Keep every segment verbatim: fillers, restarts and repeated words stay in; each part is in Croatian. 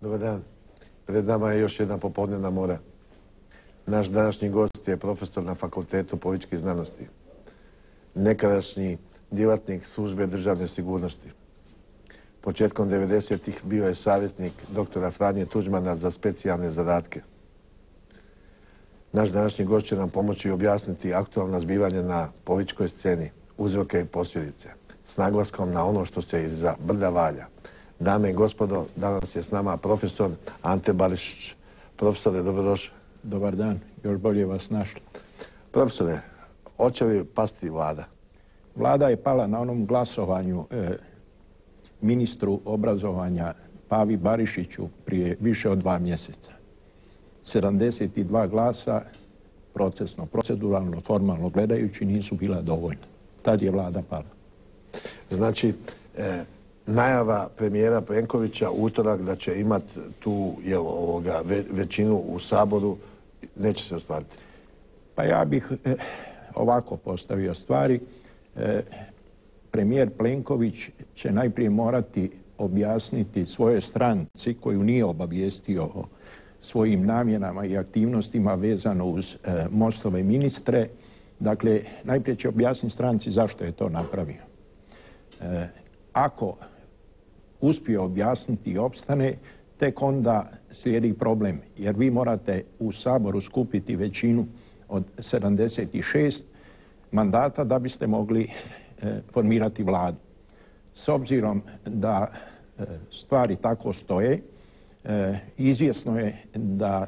Dobar dan. Pred nama je još jedna popodnevna mora. Naš današnji gost je profesor na Fakultetu političkih znanosti. Nekadašnji djelatnik službe državne sigurnosti. Početkom devedesetih bio je savjetnik doktora Franje Tuđmana za specijalne zadatke. Naš današnji gost će nam pomoći objasniti aktualna zbivanja na političkoj sceni, uzroke i posljedice, s naglaskom na ono što se iza brda valja. Dame i gospodo, danas je s nama profesor Ante Barišić. Profesore, dobrodošli. Dobar dan, još bolje vas našli. Profesore, hoće li pasti vlada? Vlada je pala na onom glasovanju e, ministru obrazovanja Pavi Barišiću prije više od dva mjeseca. sedamdeset dva glasa, procesno, proceduralno, formalno gledajući, nisu bila dovoljna. Tad je vlada pala. Znači, e, najava premijera Plenkovića utorak da će imati tu jel, ovoga, ve, većinu u Saboru, neće se ostvariti? Pa ja bih e, ovako postavio stvari. E, premijer Plenković će najprije morati objasniti svojoj stranci koju nije obavijestio o svojim namjenama i aktivnostima vezano uz e, Mostove ministre. Dakle, najprije će objasniti stranci zašto je to napravio. E, ako uspije objasniti i opstane, tek onda slijedi problem, jer vi morate u Saboru skupiti većinu od sedamdeset šest mandata da biste mogli e, formirati vladu. S obzirom da e, stvari tako stoje, e, izvjesno je da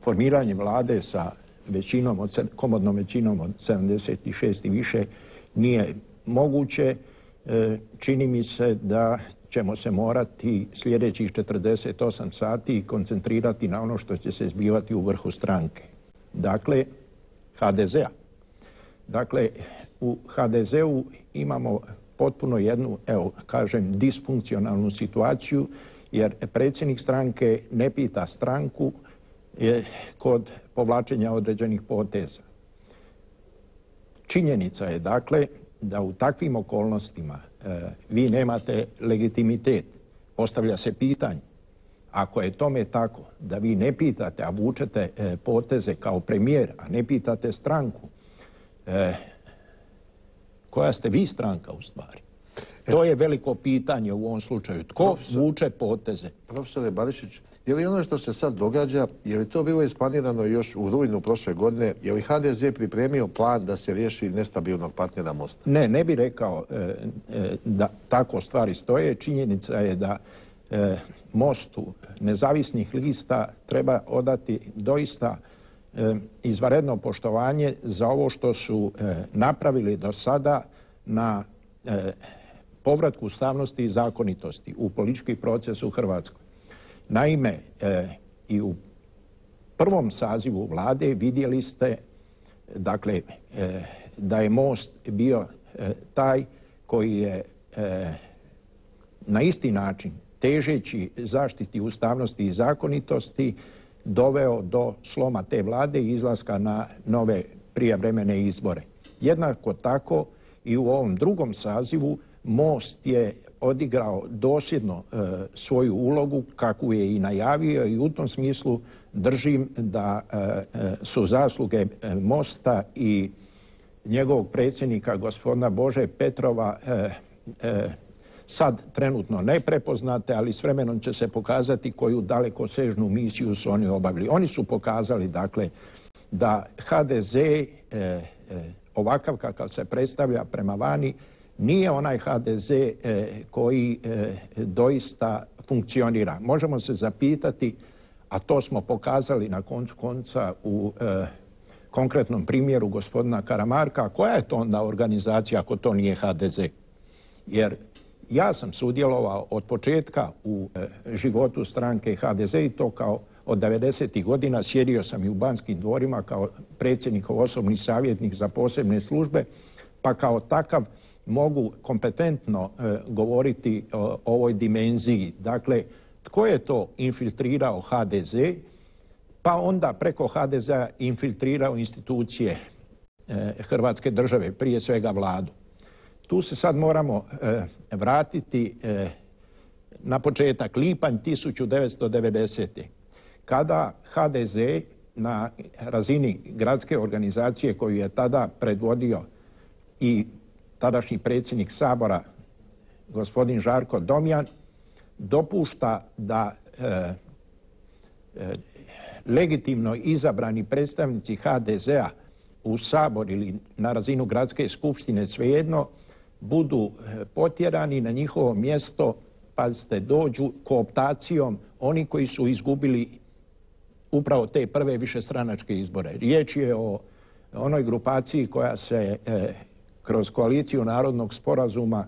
formiranje vlade sa većinom od, komodnom većinom od sedamdeset šest i više nije moguće. E, čini mi se da ćemo se morati sljedećih četrdeset osam sati koncentrirati na ono što će se zbivati u vrhu stranke. Dakle, ha de zea. Dakle, u ha de zeu imamo potpuno jednu, evo, kažem, disfunkcionalnu situaciju, jer predsjednik stranke ne pita stranku je, kod povlačenja određenih poteza. Činjenica je, dakle, da u takvim okolnostima e, vi nemate legitimitet. Postavlja se pitanje, ako je tome tako, da vi ne pitate, a vučete e, poteze kao premijer, a ne pitate stranku, e, koja ste vi stranka u stvari? To je veliko pitanje u ovom slučaju. Tko Profesor, vuče poteze? Profesore Barišić, je li ono što se sad događa, je li to bilo isplanirano još u rujnu prošle godine? Je li ha de ze pripremio plan da se riješi nestabilnog partnera Mosta? Ne, ne bih rekao e, e, da tako stvari stoje. Činjenica je da e, Mostu nezavisnih lista treba odati doista e, izvanredno poštovanje za ovo što su e, napravili do sada na e, povratku ustavnosti i zakonitosti u politički proces u Hrvatskoj. Naime, e, i u prvom sazivu vlade vidjeli ste, dakle, e, da je Most bio e, taj koji je e, na isti način, težeći zaštiti ustavnosti i zakonitosti, doveo do sloma te vlade i izlaska na nove prijevremene izbore. Jednako tako i u ovom drugom sazivu Most je odigrao dosljedno e, svoju ulogu kakvu je i najavio i u tom smislu držim da e, su zasluge Mosta i njegovog predsjednika gospodina Bože Petrova e, e, sad trenutno ne prepoznate, ali s vremenom će se pokazati koju dalekosežnu misiju su oni obavili. Oni su pokazali, dakle, da ha de ze e, e, ovakav kakav se predstavlja prema vani nije onaj ha de ze e, koji e, doista funkcionira. Možemo se zapitati, a to smo pokazali na koncu konca u e, konkretnom primjeru gospodina Karamarka, koja je to onda organizacija ako to nije ha de ze? Jer ja sam sudjelovao od početka u e, životu stranke ha de ze i to kao od devedesetih godina. Sjedio sam i u Banskim dvorima kao predsjednikov osobni savjetnik za posebne službe, pa kao takav mogu kompetentno e, govoriti o, o ovoj dimenziji. Dakle, tko je to infiltrirao ha de ze, pa onda preko ha de zea infiltrirao institucije e, Hrvatske države, prije svega vladu. Tu se sad moramo e, vratiti e, na početak, lipanj tisuću devetsto devedesete. kada ha de ze na razini gradske organizacije koju je tada predvodio i tadašnji predsjednik Sabora, gospodin Žarko Domjan, dopušta da e, e, legitimno izabrani predstavnici ha de zea u Sabor ili na razinu gradske skupštine, svejedno, budu potjerani na njihovo mjesto, pazite, dođu kooptacijom oni koji su izgubili upravo te prve višestranačke izbore. Riječ je o onoj grupaciji koja se e, kroz koaliciju Narodnog sporazuma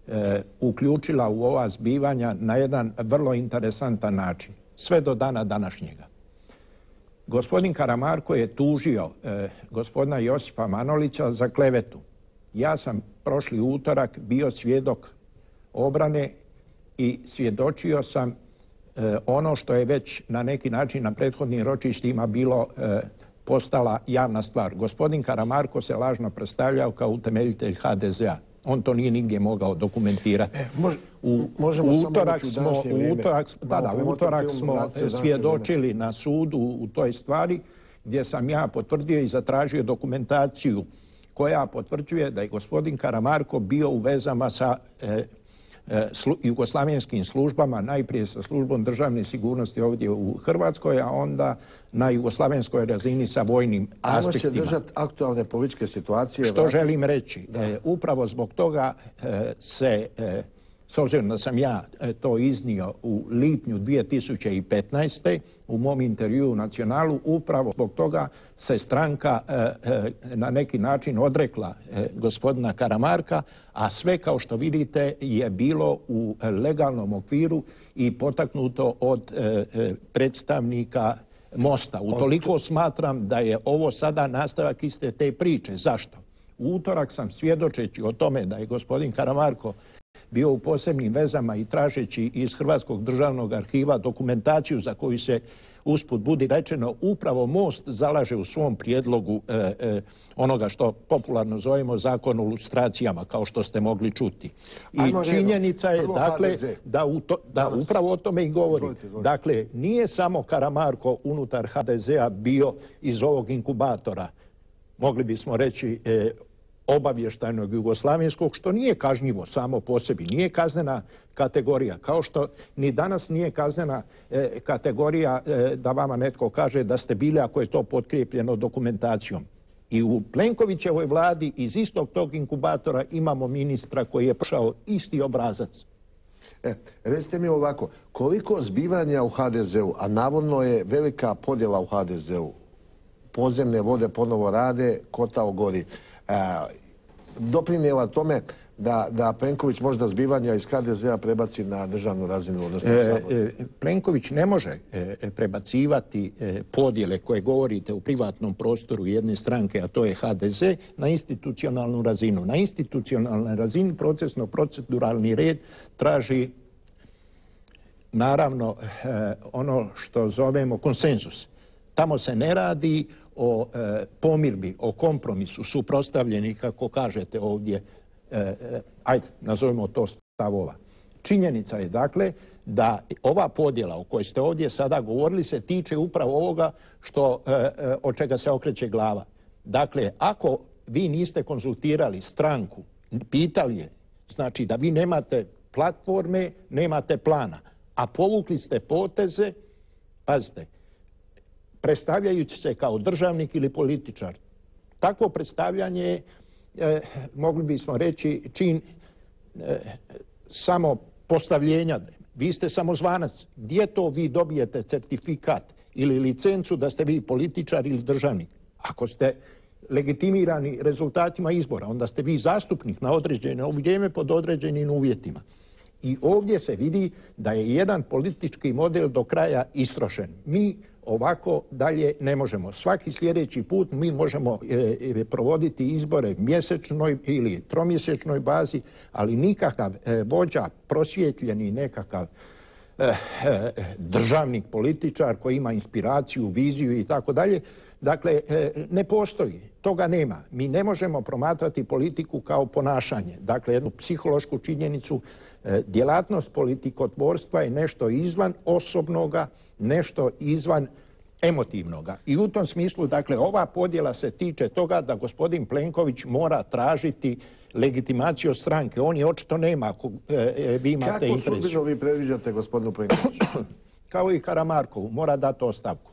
e, uključila u ova zbivanja na jedan vrlo interesantan način, sve do dana današnjega. Gospodin Karamarko je tužio e, gospodina Josipa Manolića za klevetu. Ja sam prošli utorak bio svjedok obrane i svjedočio sam e, ono što je već na neki način na prethodnim ročištima bilo e, postala javna stvar. Gospodin Karamarko se lažno predstavljao kao utemeljitelj ha de zea. On to nije nigdje mogao dokumentirati. E, mož, u, možemo u samo utorak u smo, u utorak, da, da, u utorak smo svjedočili na sudu u toj stvari gdje sam ja potvrdio i zatražio dokumentaciju koja potvrđuje da je gospodin Karamarko bio u vezama sa e, e, slu, jugoslavenskim službama, najprije sa službom državne sigurnosti ovdje u Hrvatskoj, a onda na jugoslavenskoj razini sa vojnim Ajmo aspektima. Ajmo se držati aktualne političke situacije. Što vrati... želim reći? E, upravo zbog toga e, se, e, s obzirom da sam ja e, to iznio u lipnju dvije tisuće petnaeste. u mom intervjuu u Nacionalu, upravo zbog toga se stranka e, e, na neki način odrekla e, gospodina Karamarka, a sve, kao što vidite, je bilo u legalnom okviru i potaknuto od e, e, predstavnika Mosta. Utoliko smatram da je ovo sada nastavak iste te priče. Zašto? U utorak sam, svjedočeći o tome da je gospodin Karamarko bio u posebnim vezama i tražeći iz Hrvatskog državnog arhiva dokumentaciju za koju se, usput budi rečeno, upravo Most zalaže u svom prijedlogu e, e, onoga što popularno zovemo zakon o lustracijama, kao što ste mogli čuti. I Ajmo činjenica je, dakle, da, u to, da upravo o tome i govorim. Izvolite, izvolite. Dakle, nije samo Karamarko unutar ha de zea bio iz ovog inkubatora, mogli bismo reći, e, obavještajnog jugoslavenskog, što nije kažnjivo samo po sebi, nije kaznena kategorija, kao što ni danas nije kaznena e, kategorija e, da vama netko kaže da ste bili, ako je to potkrijepljeno dokumentacijom. I u Plenkovićevoj vladi iz istog tog inkubatora imamo ministra koji je prošao isti obrazac. E, recite mi ovako, koliko zbivanja u ha de zeu, a navodno je velika podjela u ha de zeu, podzemne vode ponovo rade, kotao gori, E, doprinijela tome da, da Plenković možda zbivanja iz ha de zea prebaci na državnu razinu, odnosno e, e, Plenković ne može e, prebacivati e, podjele koje govorite u privatnom prostoru jedne stranke, a to je ha de ze, na institucionalnu razinu. Na institucionalnoj razini procesno-proceduralni red traži naravno e, ono što zovemo konsenzus. Tamo se ne radi o e, pomirbi, o kompromisu suprotstavljenih, kako kažete ovdje, e, e, ajde, nazovimo to stavova. Činjenica je, dakle, da ova podjela o kojoj ste ovdje sada govorili se tiče upravo ovoga što, e, e, od čega se okreće glava. Dakle, ako vi niste konzultirali stranku, pitali je, znači da vi nemate platforme, nemate plana, a povukli ste poteze, pazite, predstavljajući se kao državnik ili političar. Takvo predstavljanje, eh, mogli bismo reći, čin eh, samo postavljenja. Vi ste samozvanac. Gdje to vi dobijete certifikat ili licencu da ste vi političar ili državnik? Ako ste legitimirani rezultatima izbora, onda ste vi zastupnik na određeno vrijeme pod određenim uvjetima. I ovdje se vidi da je jedan politički model do kraja istrošen. Mi ovako dalje ne možemo. Svaki sljedeći put mi možemo e, provoditi izbore mjesečnoj ili tromjesečnoj bazi, ali nikakav e, vođa, prosvjetljeni nekakav e, e, državnik, političar koji ima inspiraciju, viziju i tako dalje. Dakle, e, ne postoji. Toga nema. Mi ne možemo promatrati politiku kao ponašanje. Dakle, jednu psihološku činjenicu. E, djelatnost politikotvorstva je nešto izvan osobnoga, nešto izvan emotivnoga. I u tom smislu, dakle, ova podjela se tiče toga da gospodin Plenković mora tražiti legitimaciju od stranke. On je očito nema, ako e, vi imate interes. Kako sudbinu vi predviđate gospodinu Plenkoviću? Kao i Karamarkovu, mora dati ostavku.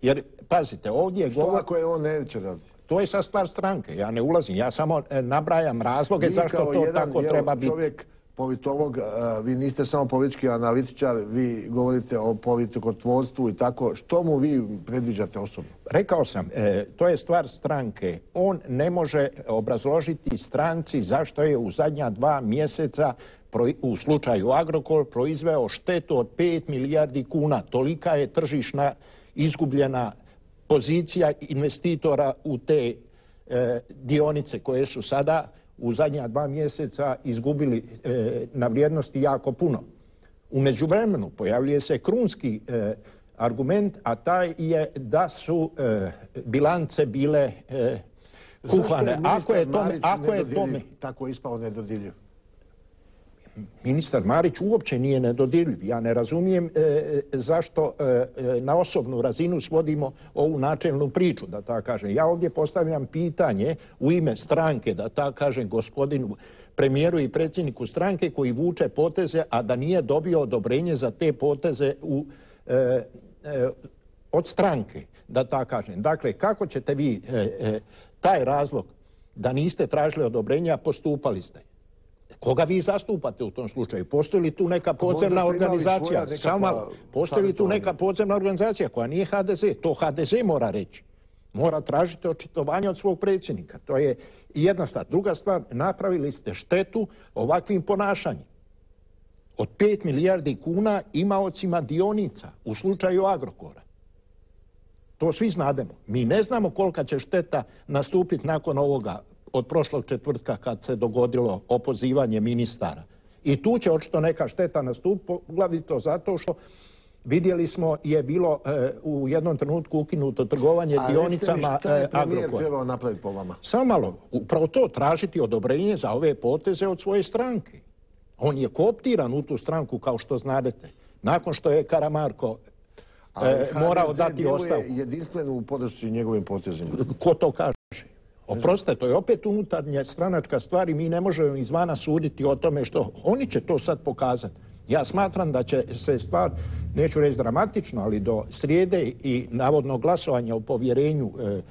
Jer, pazite, ovdje... Što govor... ako je on neće dati? To je sad stvar stranke, ja ne ulazim, ja samo nabrajam razloge vi zašto to jedan, tako treba biti. Čovjek, politolog, vi niste samo politički analitičar, vi govorite o politikotvorstvu i tako. Što mu vi predviđate osobno? Rekao sam, e, to je stvar stranke. On ne može obrazložiti stranci zašto je u zadnja dva mjeseca pro, u slučaju Agrokor proizveo štetu od pet milijardi kuna. Tolika je tržišna izgubljena pozicija investitora u te e, dionice koje su sada u zadnja dva mjeseca izgubili e, na vrijednosti jako puno. U međuvremenu pojavljuje se krunski e, argument, a taj je da su e, bilance bile e, kuhane. Zašto je ministar Marić ako je tome, tako ispao nedodirljiv? Ministar Marić uopće nije nedodirljiv. Ja ne razumijem e, zašto e, na osobnu razinu svodimo ovu načelnu priču, da tako kažem. Ja ovdje postavljam pitanje u ime stranke, da tako kažem, gospodinu premijeru i predsjedniku stranke koji vuče poteze, a da nije dobio odobrenje za te poteze u, e, e, od stranke, da tako kažem. Dakle, kako ćete vi e, e, taj razlog da niste tražili odobrenja, a postupali ste? Koga vi zastupate u tom slučaju? Postoji li tu neka podzemna organizacija? Samo malo. Postoji li tu neka podzemna organizacija koja nije ha de ze? To ha de ze mora reći. Mora tražiti očitovanje od svog predsjednika. To je jedna stvar. Druga stvar, napravili ste štetu ovakvim ponašanjem. Od pet milijardi kuna imaocima dionica u slučaju Agrokora. To svi znademo. Mi ne znamo kolika će šteta nastupiti nakon ovoga od prošlog četvrtka kad se dogodilo opozivanje ministara. I tu će očito neka šteta nastupiti, poglavito zato što vidjeli smo je bilo e, u jednom trenutku ukinuto trgovanje a dionicama Agrokora. A šta je premijer trebao napraviti po vama? Samo malo, upravo to, tražiti odobrenje za ove poteze od svoje stranke. On je kooptiran u tu stranku, kao što znadete. Nakon što je Karamarko e, morao dati ostavku. Ali jedinstveno u podršci njegovim potezima. Ko to kaže? Oprostite, to je opet unutarnja stranačka stvar i mi ne možemo izvana suditi o tome što oni će to sad pokazati. Ja smatram da će se stvar, neću reći dramatično, ali do srijede i navodno glasovanja o povjerenju e,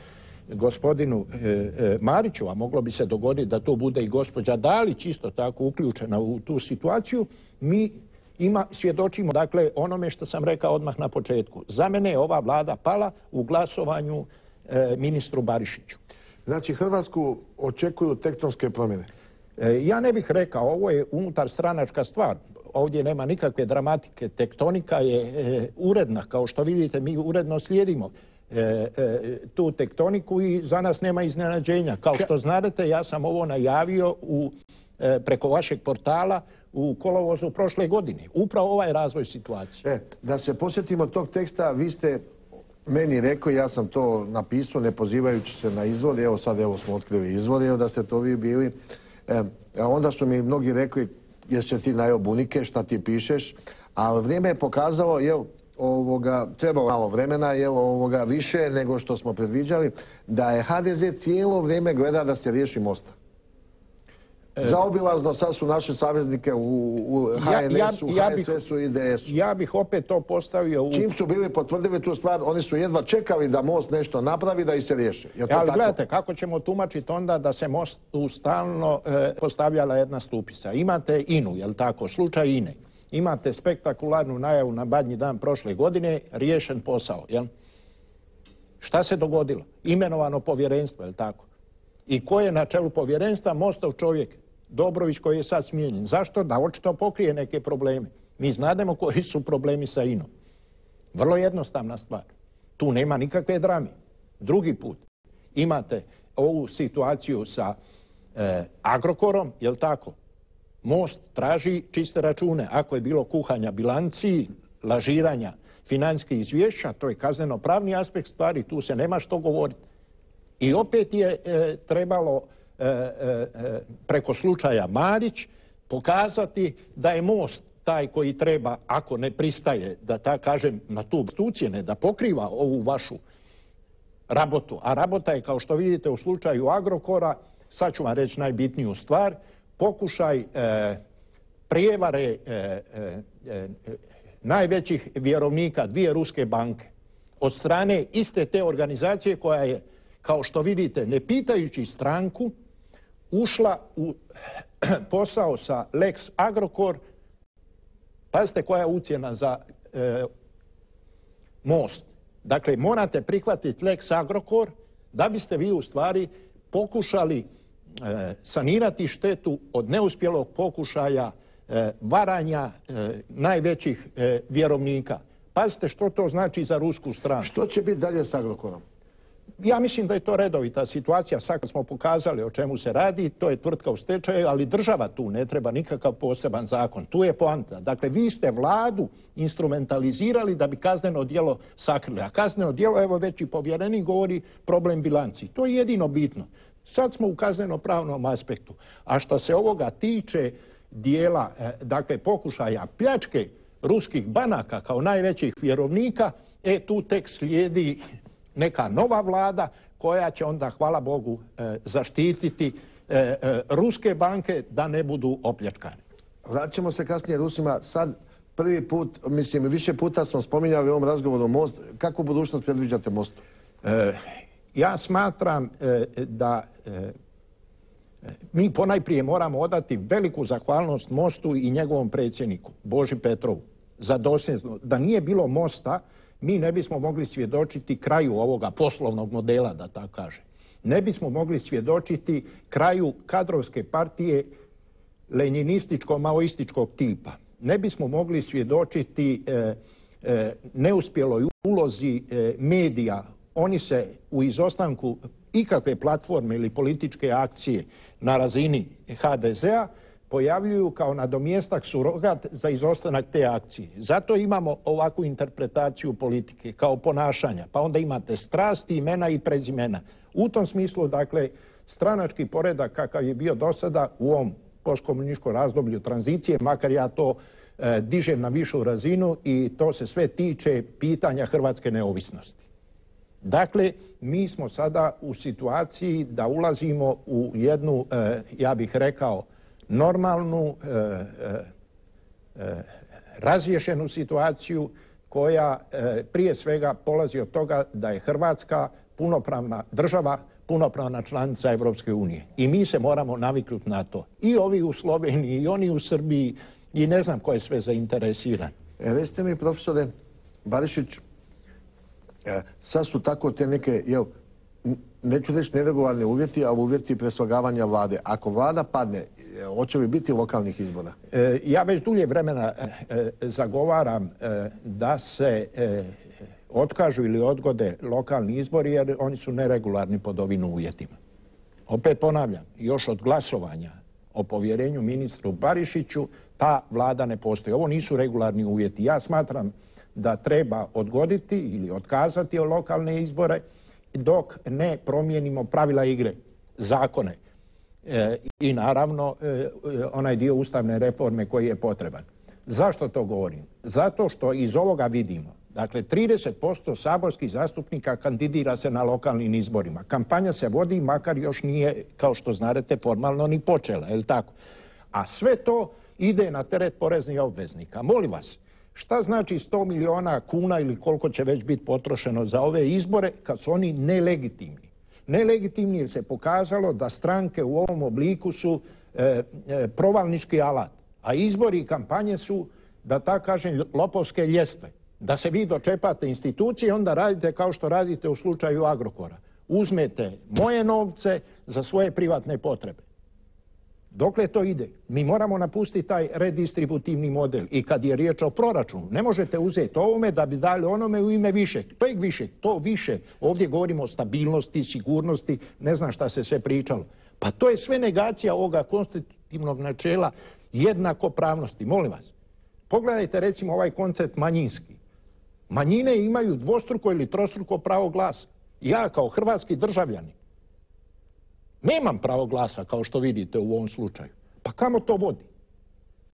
gospodinu e, e, Mariću, a moglo bi se dogoditi da to bude i gospođa Dalić isto tako uključena u tu situaciju, mi ima, svjedočimo dakle onome što sam rekao odmah na početku. Za mene je ova vlada pala u glasovanju e, ministru Barišiću. Znači, Hrvatsku očekuju tektonske promjene? E, ja ne bih rekao, ovo je unutar stranačka stvar. Ovdje nema nikakve dramatike. Tektonika je e, uredna. Kao što vidite, mi uredno slijedimo e, e, tu tektoniku i za nas nema iznenađenja. Kao što znate, ja sam ovo najavio u, e, preko vašeg portala u kolovozu prošle godine. Upravo ovaj razvoj situacije. E, da se posjetimo tog teksta, vi ste meni rekao, ja sam to napisao, ne pozivajući se na izvor, evo sad evo smo otkrili izvor, evo da ste to vi bili. E, onda su mi mnogi rekli, jesi se ti najeo bunike, šta ti pišeš, a vrijeme je pokazalo, jel, ovoga, trebalo malo vremena, jel, ovoga, više nego što smo predviđali, da je ha de ze cijelo vrijeme gleda da se riješi Mosta. Zaobilazno sad su naše saveznike u, u ha en esu, ja, ja, ja ha es esu i de esu. Ja bih opet to postavio u... Čim su bili potvrdili tu stvar, oni su jedva čekali da Most nešto napravi, da ih se riješi. Je to ali tako? Gledajte, kako ćemo tumačiti onda da se Mostu stalno e, postavljala jedna stupisa? Imate inu, jel tako, slučaj ine. Imate spektakularnu najavu na Badnji dan prošle godine, riješen posao, jel? Šta se dogodilo? Imenovano povjerenstvo, jel tako? I ko je na čelu povjerenstva? Mostov čovjek, Dobrović, koji je sad smijenjen. Zašto? Da očito pokrije neke probleme. Mi znademo koji su problemi sa inom. Vrlo jednostavna stvar. Tu nema nikakve drame. Drugi put imate ovu situaciju sa e, Agrokorom, jel tako? Most traži čiste račune. Ako je bilo kuhanja bilanci, lažiranja financijskih izvješća, to je kazneno-pravni aspekt stvari, tu se nema što govoriti. I opet je e, trebalo e, e, preko slučaja Marić pokazati da je Most taj koji treba, ako ne pristaje, da ta kažem na tu ucjene, da pokriva ovu vašu rabotu. A rabota je, kao što vidite u slučaju Agrokora, sad ću vam reći najbitniju stvar, pokušaj e, prijevare e, e, e, najvećih vjerovnika dvije ruske banke od strane iste te organizacije koja je, kao što vidite, ne pitajući stranku, ušla u posao sa Lex Agrokor. Pazite koja je ucjena za e, Most. Dakle, morate prihvatiti Lex Agrokor da biste vi u stvari pokušali e, sanirati štetu od neuspjelog pokušaja e, varanja e, najvećih e, vjerovnika. Pazite što to znači za rusku stranu. Što će biti dalje s Agrokorom? Ja mislim da je to redovita situacija. Sad kad smo pokazali o čemu se radi, to je tvrtka u stečaju, ali država tu ne treba nikakav poseban zakon. Tu je poanta. Dakle, vi ste vladu instrumentalizirali da bi kazneno djelo sakrili. A kazneno djelo, evo već i povjerenik govori, problem bilanci. To je jedino bitno. Sad smo u kazneno-pravnom aspektu. A što se ovoga tiče dijela, dakle, pokušaja pljačke ruskih banaka kao najvećih vjerovnika, e tu tek slijedi neka nova vlada koja će onda, hvala Bogu, e, zaštititi e, e, ruske banke da ne budu opljačkane. Vraćamo se kasnije Rusima. Sad prvi put, mislim, više puta smo spominjali u ovom razgovoru Most. Kakvu budućnost predviđate Mostu? E, ja smatram e, da e, mi ponajprije moramo odati veliku zahvalnost Mostu i njegovom predsjedniku, Boži Petrovu, za dosljednost. Da nije bilo Mosta, mi ne bismo mogli svjedočiti kraju ovoga poslovnog modela, da tako kaže. Ne bismo mogli svjedočiti kraju kadrovske partije lenjinističko-maoističkog tipa. Ne bismo mogli svjedočiti e, e, neuspjeloj ulozi e, medija. Oni se u izostanku ikakve platforme ili političke akcije na razini ha de zea pojavljuju kao nadomjestak surogat za izostanak te akcije. Zato imamo ovakvu interpretaciju politike kao ponašanja. Pa onda imate strasti, imena i prezimena. U tom smislu, dakle, stranački poredak kakav je bio do sada u ovom postkomunističkom razdoblju tranzicije, makar ja to e, dižem na višu razinu i to se sve tiče pitanja hrvatske neovisnosti. Dakle, mi smo sada u situaciji da ulazimo u jednu, e, ja bih rekao, normalnu, e, e, razriješenu situaciju koja e, prije svega polazi od toga da je Hrvatska punopravna država, punopravna članica Evropske unije. I mi se moramo naviknuti na to. I ovi u Sloveniji, i oni u Srbiji, i ne znam ko je sve zainteresiran. E, recite mi, profesore Barišić, e, sad su tako te neke, jel, neću reći neregularni uvjeti, ali uvjeti preslagavanja vlade. Ako vlada padne, hoće li biti lokalnih izbora? E, ja već dulje vremena e, zagovaram e, da se e, otkažu ili odgode lokalni izbori jer oni su neregularni pod ovim uvjetima. Opet ponavljam, još od glasovanja o povjerenju ministru Barišiću ta vlada ne postoji. Ovo nisu regularni uvjeti. Ja smatram da treba odgoditi ili otkazati lokalne izbore dok ne promijenimo pravila igre, zakone e, i naravno e, onaj dio ustavne reforme koji je potreban. Zašto to govorim? Zato što iz ovoga vidimo, dakle, trideset posto saborskih zastupnika kandidira se na lokalnim izborima. Kampanja se vodi, makar još nije, kao što znate, formalno ni počela, je li tako? A sve to ide na teret poreznih obveznika. Molim vas, šta znači sto milijuna kuna ili koliko će već biti potrošeno za ove izbore kad su oni nelegitimni? Nelegitimni jer se pokazalo da stranke u ovom obliku su e, e, provalnički alat, a izbori i kampanje su, da tako kažem, lopovske ljestve. Da se vi dočepate institucije, onda radite kao što radite u slučaju Agrokora. Uzmete moje novce za svoje privatne potrebe. Dokle to ide? Mi moramo napustiti taj redistributivni model. I kad je riječ o proračunu, ne možete uzeti ovome da bi dali onome u ime više. To je više, to više. Ovdje govorimo o stabilnosti, sigurnosti, ne znam šta se sve pričalo. Pa to je sve negacija ovoga konstitutivnog načela jednakopravnosti. Molim vas, pogledajte recimo ovaj koncept manjinski. Manjine imaju dvostruko ili trostruko pravo glasa. Ja kao hrvatski državljanin nemam pravo glasa, kao što vidite u ovom slučaju. Pa kamo to vodi?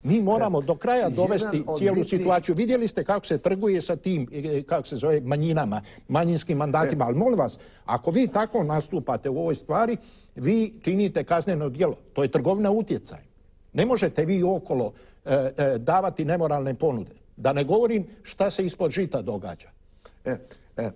Mi moramo do kraja dovesti cijelu situaciju. Vidjeli ste kako se trguje sa tim, kako se zove, manjinama, manjinskim mandatima. Ali molim vas, ako vi tako nastupate u ovoj stvari, vi činite kazneno djelo. To je trgovina utjecaj. Ne možete vi okolo e, e, davati nemoralne ponude. Da ne govorim šta se ispod žita događa. E, e, e,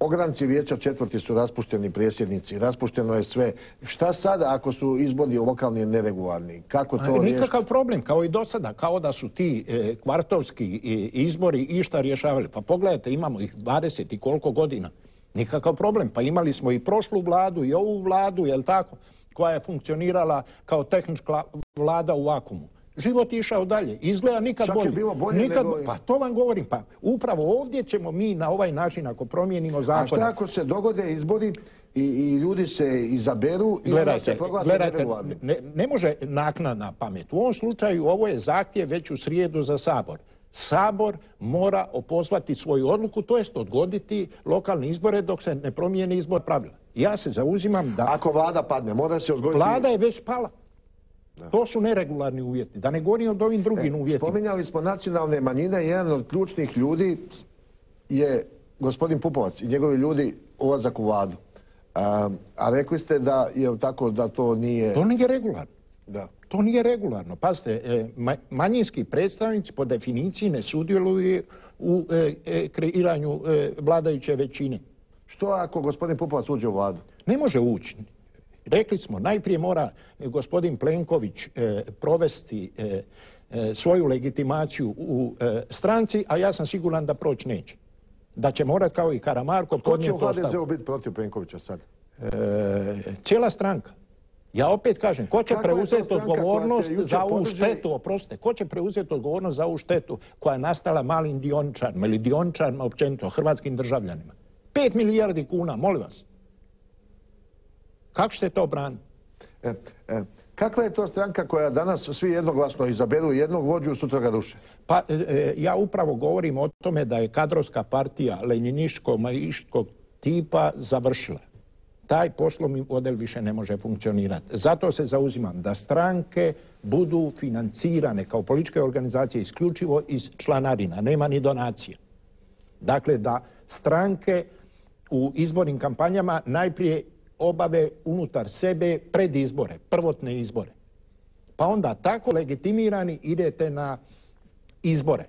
Ogranci vijeća četvrti su raspušteni predsjednici, raspušteno je sve. Šta sada ako su izbori lokalni neregularni? Kako to riješiti? Nikakav problem, kao i do sada, kao da su ti e, kvartovski e, izbori išta rješavali. Pa pogledajte, imamo ih dvadeset i koliko godina. Nikakav problem, pa imali smo i prošlu vladu i ovu vladu, jel tako, koja je funkcionirala kao tehnička vlada u vakuumu. Život je išao dalje. Izgleda nikad Čak bolje. je bilo bolje nikad... nego... Pa to vam govorim. Pa upravo ovdje ćemo mi na ovaj način, ako promijenimo zakon... A šta ako se dogode izbori i, i ljudi se izaberu i onda se proglase neregularni? Ne, ne može naknadna pamet. U ovom slučaju ovo je zahtjev već u srijedu za Sabor. Sabor mora opozvati svoju odluku, to jest odgoditi lokalne izbore dok se ne promijeni izbor pravila. Ja se zauzimam da... Ako vlada padne, mora se odgoditi... Vlada je već pala. Da. To su neregularni uvjeti. Da ne govorim o ovim drugim e, uvjetima. Spominjali smo nacionalne manjine. Jedan od ključnih ljudi je gospodin Pupovac i njegovi ljudi ulazak u vladu. A, a rekli ste da je tako da to nije... To nije regularno. Da. To nije regularno. Pazite, e, manjinski predstavnici po definiciji ne sudjeluju u e, e, kreiranju e, vladajuće većine. Što ako gospodin Pupovac uđe u vladu? Ne može ući. Rekli smo, najprije mora gospodin Plenković e, provesti e, e, svoju legitimaciju u e, stranci, a ja sam siguran da proći neće. Da će morat kao i Karamarko podnijeti ostavku. Ko će u ha de zeu biti protiv Plenkovića sad? E, cijela stranka. Ja opet kažem, ko će preuzeti odgovornost za ovu štetu, oprostite, ko će preuzeti odgovornost za ovu štetu koja je nastala malim dioničarima ili dioničarima općenito, hrvatskim državljanima? Pet milijardi kuna, molim vas. Kako ćete to braniti? E, e, kakva je to stranka koja danas svi jednoglasno izaberu jednog vođu, sutra ga ruše? Pa e, ja upravo govorim o tome da je kadrovska partija lenjiniško-maiškog tipa završila. Taj poslovni model više ne može funkcionirati. Zato se zauzimam da stranke budu financirane kao političke organizacije isključivo iz članarina, nema ni donacija. Dakle, da stranke u izbornim kampanjama najprije obave unutar sebe pred izbore, prvotne izbore. Pa onda tako legitimirani idete na izbore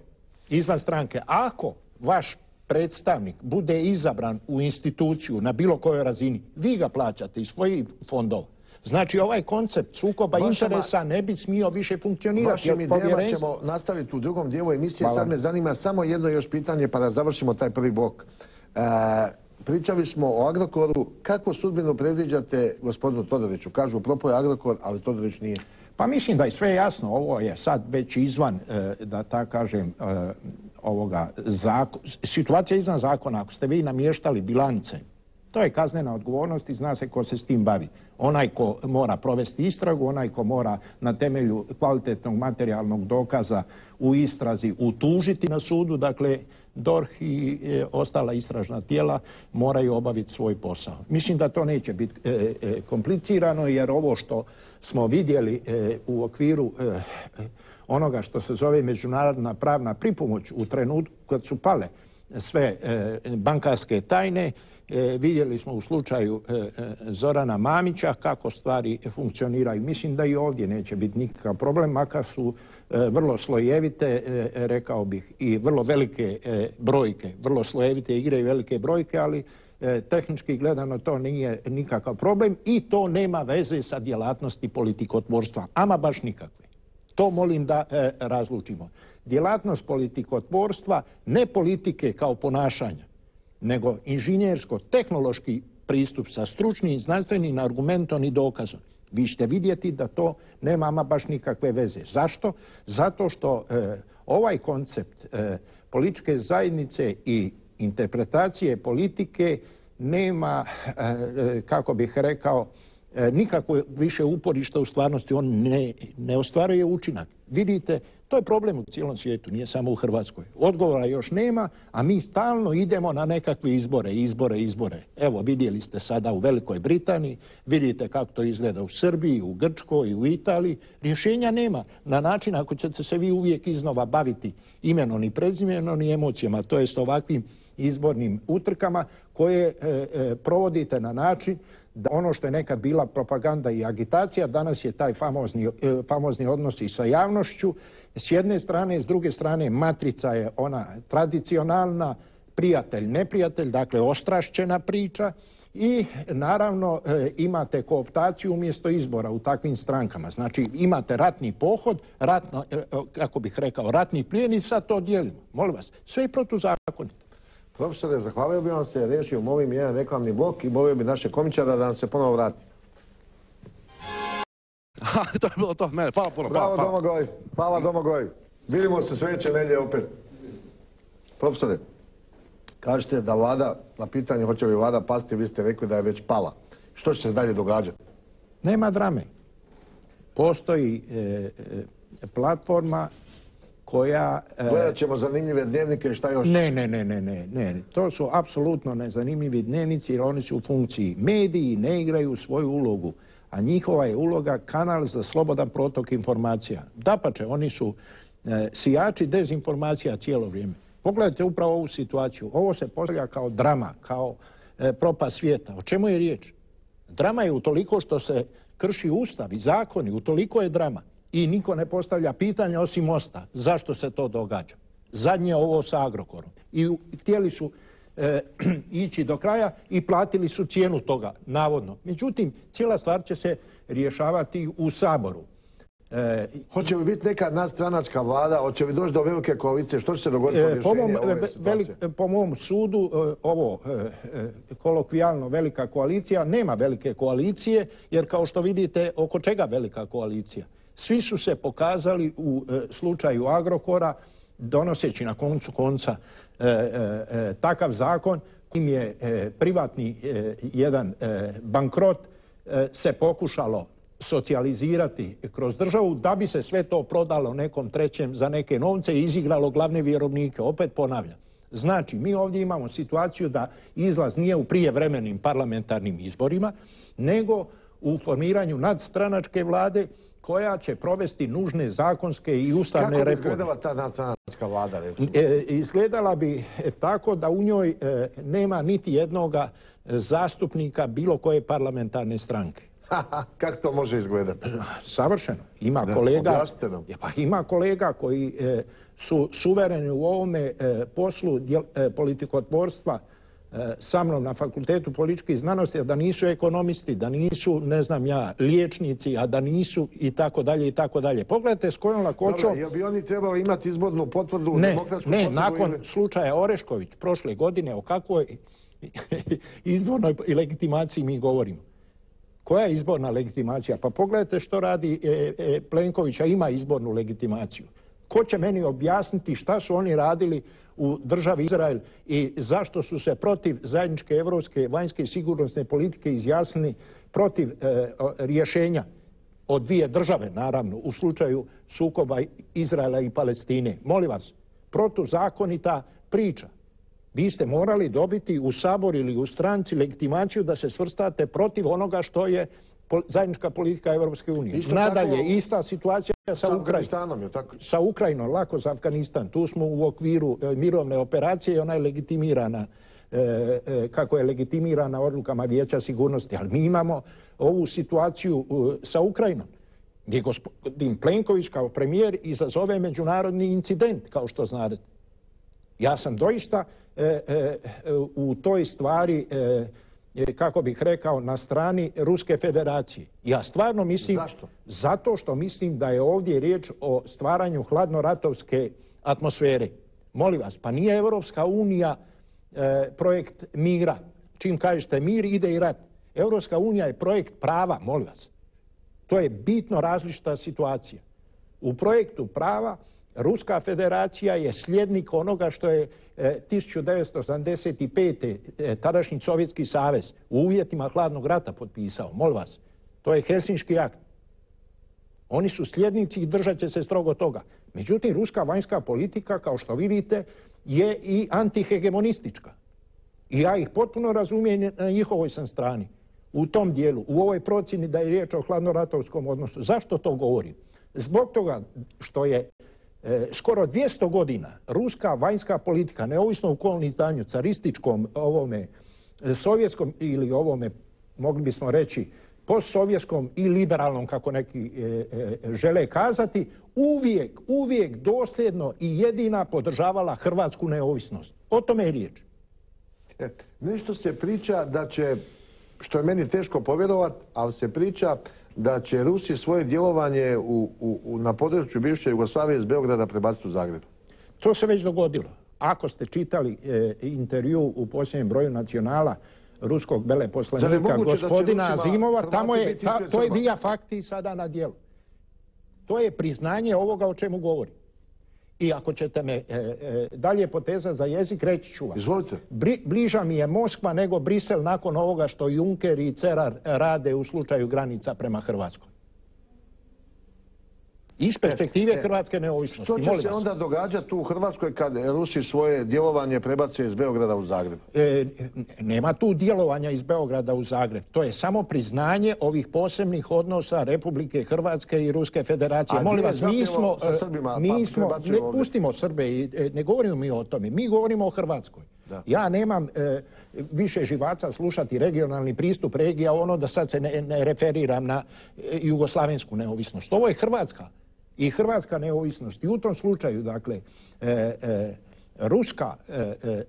izvan stranke. Ako vaš predstavnik bude izabran u instituciju na bilo kojoj razini, vi ga plaćate iz svojih fondova. Znači ovaj koncept sukoba Vašama, interesa ne bi smio više funkcionirati. Vašim idejama ćemo nastaviti u drugom dijelu emisije. Hvala. Sad me zanima samo jedno još pitanje pa da završimo taj prvi blok. E, pričali smo o Agrokoru. Kakvu sudbinu predviđate gospodinu Todoriću? Kažu propao je Agrokor, ali Todorić nije. Pa mislim da je sve jasno. Ovo je sad već izvan, da tako kažem, ovoga zakona. Situacija izvan zakona. Ako ste vi namještali bilance, to je kaznena odgovornost i zna se ko se s tim bavi. Onaj ko mora provesti istragu, onaj ko mora na temelju kvalitetnog materijalnog dokaza u istrazi utužiti na sudu, dakle D O R H i e, ostala istražna tijela moraju obaviti svoj posao. Mislim da to neće biti e, e, komplicirano jer ovo što smo vidjeli e, u okviru e, onoga što se zove međunarodna pravna pripomoć u trenutku kad su pale sve e, bankarske tajne, e, vidjeli smo u slučaju e, Zorana Mamića kako stvari funkcioniraju. Mislim da i ovdje neće biti nikakav problem, makar su e, vrlo slojevite, e, rekao bih, i vrlo velike e, brojke. Vrlo slojevite igre i velike brojke, ali e, tehnički gledano to nije nikakav problem i to nema veze sa djelatnosti politikotvorstva. Ama baš nikakve. To molim da e, razlučimo. Djelatnost politikotvorstva, ne politike kao ponašanja, nego inženjersko-tehnološki pristup sa stručnim, znanstvenim argumentom i dokazom. Vi ćete vidjeti da to nema ama baš nikakve veze. Zašto? Zato što e, ovaj koncept e, političke zajednice i interpretacije politike nema, e, kako bih rekao, nikako više uporišta u stvarnosti, on ne, ne ostvaruje učinak. Vidite, to je problem u cijelom svijetu, nije samo u Hrvatskoj. Odgovora još nema, a mi stalno idemo na nekakve izbore, izbore, izbore. Evo, vidjeli ste sada u Velikoj Britaniji, vidite kako to izgleda u Srbiji, u Grčkoj, u Italiji. Rješenja nema na način ako ćete se vi uvijek iznova baviti imenom i prezimenom i emocijama, to jest ovakvim izbornim utrkama koje e, e, provodite na način da ono što je nekad bila propaganda i agitacija, danas je taj famozni, famozni odnos i sa javnošću. S jedne strane, s druge strane, matrica je ona tradicionalna, prijatelj, neprijatelj, dakle ostrašćena priča i naravno imate kooptaciju umjesto izbora u takvim strankama. Znači imate ratni pohod, ratno, kako bih rekao, ratni plijen i sad to dijelimo. Molim vas, sve je protuzakonito. Profesore, zahvalio bi vam se, riješio movim jedan reklamni blok i molio bi naše komičara da nam se ponovo vrati. To je bilo to, mene, hvala puno. Bravo Domagoj, hvala Domagoj. Vidimo se sljedeće nedjelje opet. Profesore, kažete da vlada, na pitanje hoće li vlada pasti, vi ste rekli da je već pala. Što će se dalje događati? Nema drame. Postoji e, e, platforma koja... E, Gledat ćemo zanimljive dnevnike i šta još? Ne, ne, ne, ne, ne, ne. To su apsolutno nezanimljivi dnevnici jer oni su u funkciji. Mediji ne igraju svoju ulogu, a njihova je uloga kanal za slobodan protok informacija. Dapače, oni su e, sijači dezinformacija cijelo vrijeme. Pogledajte upravo ovu situaciju. Ovo se postavlja kao drama, kao e, propast svijeta. O čemu je riječ? Drama je utoliko što se krši ustav i zakoni, utoliko je drama. I niko ne postavlja pitanja osim Mosta. Zašto se to događa? Zadnje ovo sa Agrokorom. I htjeli su e, ići do kraja i platili su cijenu toga, navodno. Međutim, cijela stvar će se rješavati u Saboru. E, Hoće li biti neka nadstranačka vlada? Hoće li doći do velike koalicije? Što će se dogoditi po rješenju ove situacije? Velik, po mom sudu, ovo kolokvijalno velika koalicija, nema velike koalicije, jer kao što vidite, oko čega velika koalicija? Svi su se pokazali u e, slučaju Agrokora, donoseći na koncu konca e, e, takav zakon kojim je e, privatni e, jedan e, bankrot e, se pokušalo socijalizirati kroz državu da bi se sve to prodalo nekom trećem za neke novce i izigralo glavne vjerovnike. Opet ponavljam. Znači, mi ovdje imamo situaciju da izlaz nije u prijevremenim parlamentarnim izborima, nego u formiranju nadstranačke vlade koja će provesti nužne zakonske i ustavne reforme. Kako bi izgledala ta nadstranačka vlada, recimo? E, izgledala bi tako da u njoj e, nema niti jednoga zastupnika bilo koje parlamentarne stranke. Kako to može izgledati? Savršeno. Ima da, kolega, pa ima kolega koji e, su suvereni u ovome e, poslu djel, e, politikotvorstva e, sa mnom na Fakultetu političkih znanosti, da nisu ekonomisti, da nisu, ne znam ja, liječnici, a da nisu i tako dalje i tako dalje. Pogledajte s kojom lakoćom... Dobro, jel bi oni trebali imati izbornu potvrdu? Ne, demokratsku ne, potvrdu nakon ili... slučaja Orešković prošle godine, o kakvoj izbornoj legitimaciji mi govorimo. Koja je izborna legitimacija? Pa pogledajte što radi e, e, Plenković, a ima izbornu legitimaciju. Ko će meni objasniti šta su oni radili u državi Izrael i zašto su se protiv zajedničke evropske vanjske i sigurnosne politike izjasnili protiv e, rješenja od dvije države, naravno, u slučaju sukoba Izraela i Palestine. Molim vas, protuzakonita priča. Vi ste morali dobiti u Sabor ili u stranci legitimaciju da se svrstate protiv onoga što je zajednička politika Evropske unije. Nadalje, tako, ista situacija sa, sa Ukrajinom. Sa Ukrajinom, lako za Afganistan. Tu smo u okviru e, mirovne operacije i ona je legitimirana, e, e, kako je legitimirana odlukama Vijeća sigurnosti. Ali mi imamo ovu situaciju e, sa Ukrajinom, gdje gospodin Plenković kao premijer izazove međunarodni incident, kao što znate. Ja sam doista e, e, u toj stvari, e, kako bih rekao, na strani Ruske federacije. Ja stvarno mislim... Zašto? Zato što mislim da je ovdje riječ o stvaranju hladnoratovske atmosfere. Molim vas, pa nije Evropska unija e, projekt mira. Čim kažete mir, ide i rat. Evropska unija je projekt prava, molim vas. To je bitno različita situacija. U projektu prava Ruska federacija je sljednik onoga što je e, tisuću devetsto osamdeset pete. E, tadašnji Sovjetski savez u uvjetima hladnog rata potpisao. Molim vas, To je Helsinški akt. Oni su sljednici i držat će se strogo toga. Međutim, ruska vanjska politika, kao što vidite, je i antihegemonistička. I ja ih potpuno razumijem, na njihovoj sam strani. U tom dijelu, u ovoj procjeni da je riječ o hladnoratovskom odnosu. Zašto to govorim? Zbog toga što je e, skoro dvjesto godina ruska vanjska politika, neovisno u kolnom izdanju, carističkom, ovome, sovjetskom ili ovome, mogli bismo reći, postsovjetskom i liberalnom, kako neki e, e, žele kazati, uvijek, uvijek dosljedno i jedina podržavala hrvatsku neovisnost. O tome je riječ. E, nešto se priča da će, što je meni teško povjerovat, ali se priča da će Rusi svoje djelovanje u, u, u, na području bivše Jugoslavije iz Beograda prebaciti u Zagreb. To se već dogodilo. Ako ste čitali e, intervju u posljednjem broju Nacionala ruskog veleposlanika gospodina Azimova, tamo je, ta, to je via fakti sada na djelu. To je priznanje ovoga o čemu govorim. I ako ćete me e, e, dalje poteza za jezik, reći ću vam. Izvolite. Bri, bliža mi je Moskva nego Brisel nakon ovoga što Juncker i Cerar rade u slučaju granica prema Hrvatskoj. Iz perspektive e, hrvatske neovisnosti. Što će Molim se vas. onda događati u Hrvatskoj kad Rusi svoje djelovanje prebace iz Beograda u Zagreb? E, nema tu djelovanja iz Beograda u Zagreb. To je samo priznanje ovih posebnih odnosa Republike Hrvatske i Ruske federacije. A Molim vas, mi smo... Srbima, mi pa smo ne ovdje. Pustimo Srbe i ne govorimo mi o tome. Mi govorimo o Hrvatskoj. Da. Ja nemam e, više živaca slušati regionalni pristup regija, ono da sad se ne, ne referiram na e, jugoslavensku neovisnost. Ovo je Hrvatska. I hrvatska neovisnost. I u tom slučaju, dakle, e, e, ruska e, e,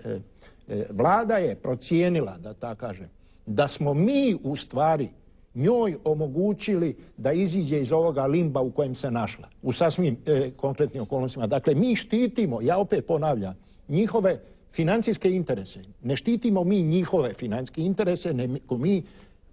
e, vlada je procijenila, da tako kažem, da smo mi u stvari njoj omogućili da iziđe iz ovoga limba u kojem se našla. U sasvim e, konkretnim okolnostima. Dakle, mi štitimo, ja opet ponavljam, njihove financijske interese. Ne štitimo mi njihove financijske interese, nego mi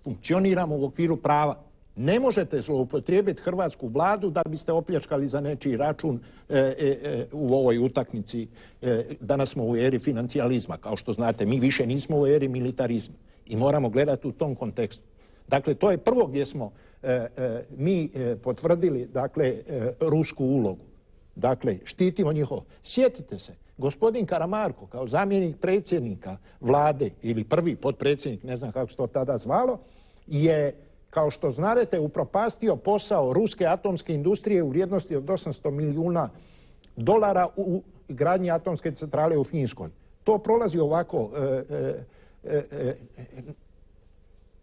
funkcioniramo u okviru prava. Ne možete zloupotrijebiti hrvatsku vladu da biste opljačkali za nečiji račun e, e, u ovoj utakmici. E, danas smo u eri financijalizma. Kao što znate, mi više nismo u eri militarizma. I moramo gledati u tom kontekstu. Dakle, to je prvo gdje smo e, e, mi e, potvrdili, dakle, e, rusku ulogu. Dakle, štitimo njihovo. Sjetite se, gospodin Karamarko, kao zamjenik predsjednika vlade, ili prvi potpredsjednik, ne znam kako se to tada zvalo, je, kao što znate, upropastio posao ruske atomske industrije u vrijednosti od osamsto milijuna dolara u gradnji atomske centrale u Finskoj. To prolazi ovako e, e, e,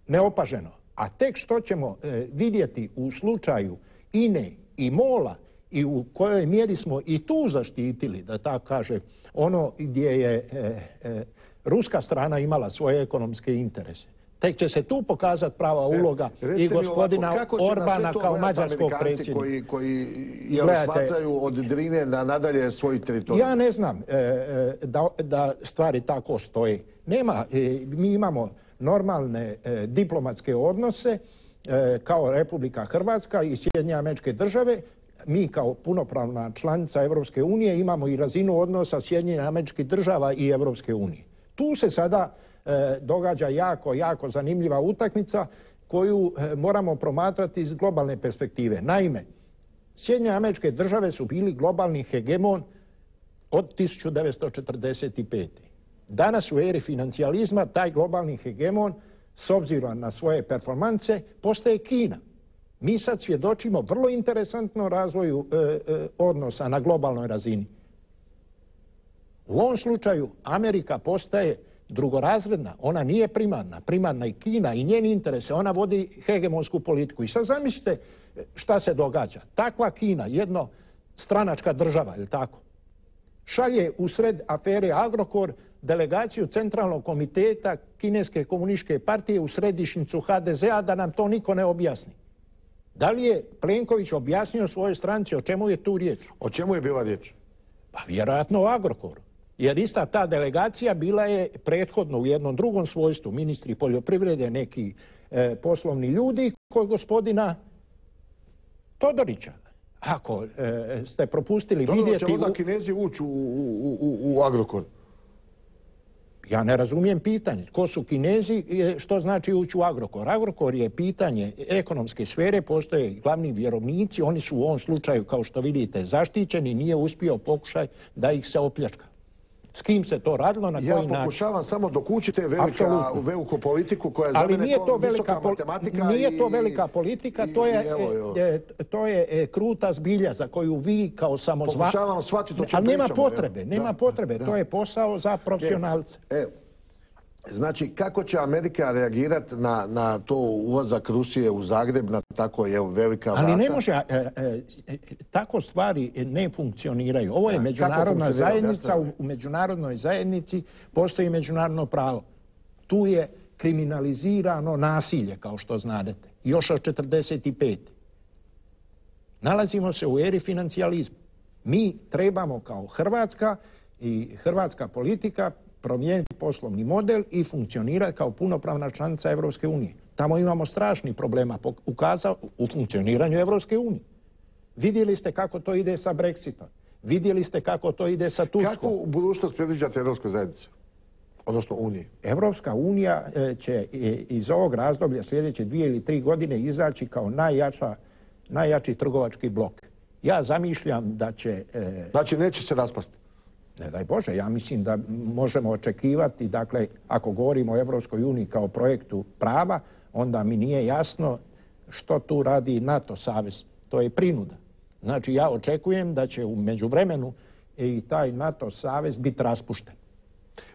neopaženo. A tek što ćemo e, vidjeti u slučaju I N E i MOL-a i u kojoj mjeri smo i tu zaštitili, da tako kaže, ono gdje je e, e, ruska strana imala svoje ekonomske interese. Tek će se tu pokazati prava uloga e, i gospodina ovako, Orbana kao mađarskog predsjednika. Koji, koji je smatraju od Drine na nadalje svoj teritorij? Ja ne znam e, da, da stvari tako stoje. Nema, e, mi imamo normalne e, diplomatske odnose e, kao Republika Hrvatska i Sjedinjene Američke Države. Mi kao punopravna članica Europske unije imamo i razinu odnosa Sjedinjenih Američkih Država i Europske unije. Tu se sada e, događa jako, jako zanimljiva utakmica koju e, moramo promatrati iz globalne perspektive. Naime, Sjedinjene Američke Države su bili globalni hegemon od tisuću devetsto četrdeset pete. Danas u eri financijalizma taj globalni hegemon, s obzirom na svoje performance, postaje Kina. Mi sad svjedočimo vrlo interesantnom razvoju e, e, odnosa na globalnoj razini. U ovom slučaju Amerika postaje drugorazredna, ona nije primarna. Primarna je Kina i njeni interese, ona vodi hegemonsku politiku. I sad zamislite šta se događa. Takva Kina, jedno stranačka država, je li tako, šalje u sred afere Agrokor delegaciju Centralnog komiteta Kineske komunističke partije u središnjicu ha de ze a da nam to niko ne objasni. Da li je Plenković objasnio svojoj stranci o čemu je tu riječ? O čemu je bila riječ? Pa vjerojatno o Agrokoru. Jer ista ta delegacija bila je prethodno u jednom drugom svojstvu, ministri poljoprivrede, neki e, poslovni ljudi, kod gospodina Todorića. Ako e, ste propustili Dobro, vidjeti... Dobro, će onda Kinezi ući u, u, u, u Agrokor? Ja ne razumijem pitanje. Ko su Kinezi, što znači ući u Agrokor? Agrokor je pitanje ekonomske sfere, postoje glavni vjerovnici, oni su u ovom slučaju, kao što vidite, zaštićeni, nije uspio pokušaj da ih se opljačka. S kim se to radilo, na koji način? Ja pokušavam samo dok učite velika, veliku politiku koja je za ali mene nije to visoka velika, matematika. Nije i, to velika politika, i, to je, i, evo, evo. E, to je e, kruta zbilja za koju vi kao samozva... Pokušavam shvatiti o čemu ali nema pričamo, potrebe, evo. nema Da, potrebe, da. to je posao za profesionalce. E, znači, kako će Amerika reagirati na, na to ulazak Rusije u Zagreb, na tako je velika vrata? Ali ne može, e, e, tako stvari ne funkcioniraju. Ovo je Da, međunarodna zajednica, u, u međunarodnoj zajednici postoji međunarodno pravo. Tu je kriminalizirano nasilje, kao što znadete, još od četrdeset pete. Nalazimo se u eri financijalizma. Mi trebamo kao Hrvatska i hrvatska politika promijeniti poslovni model i funkcionirati kao punopravna članica Evropske unije. Tamo imamo strašnih problema ukazao u funkcioniranju Evropske unije. Vidjeli ste kako to ide sa Brexitom. Vidjeli ste kako to ide sa Turskom. Kako budućnost predviđate Evropskoj zajednici? Odnosno Uniji? Evropska unija će iz ovog razdoblja sljedeće dvije ili tri godine izaći kao najjača, najjači trgovački blok. Ja zamišljam da će... Znači neće se raspasti? Ne daj Bože, ja mislim da možemo očekivati, dakle, ako govorimo o Evropskoj uniji kao projektu prava, onda mi nije jasno što tu radi NATO savez. To je prinuda. Znači, ja očekujem da će u međuvremenu i taj NATO savez biti raspušten.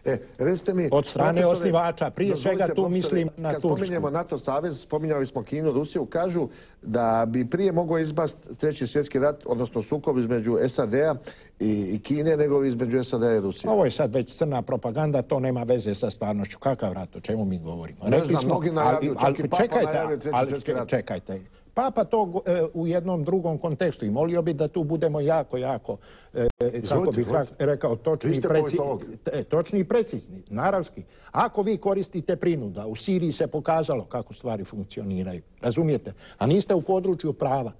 E, recite mi, od strane osnivača, prije svega tu mislim na Tursku. Kad spominjemo NATO savez, spominjali smo Kinu, Rusiju, kažu da bi prije mogao izbasti treći svjetski rat, odnosno sukob između S A D-a i, i Kine, nego između S A D-a i Rusije. Ovo je sad već crna propaganda, to nema veze sa stvarnošću. Kakav rat, o čemu mi govorimo? Ne znam, mnogi najavljuju, čak i Papa najavljuje treći svjetski rat. Čekajte, Papa to e, u jednom drugom kontekstu i molio bi da tu budemo jako, jako, e, kako bih rekao, točni, preci, e, točni i precizni, naravski. Ako vi koristite prinuda, u Siriji se pokazalo kako stvari funkcioniraju, razumijete? A niste u području prava.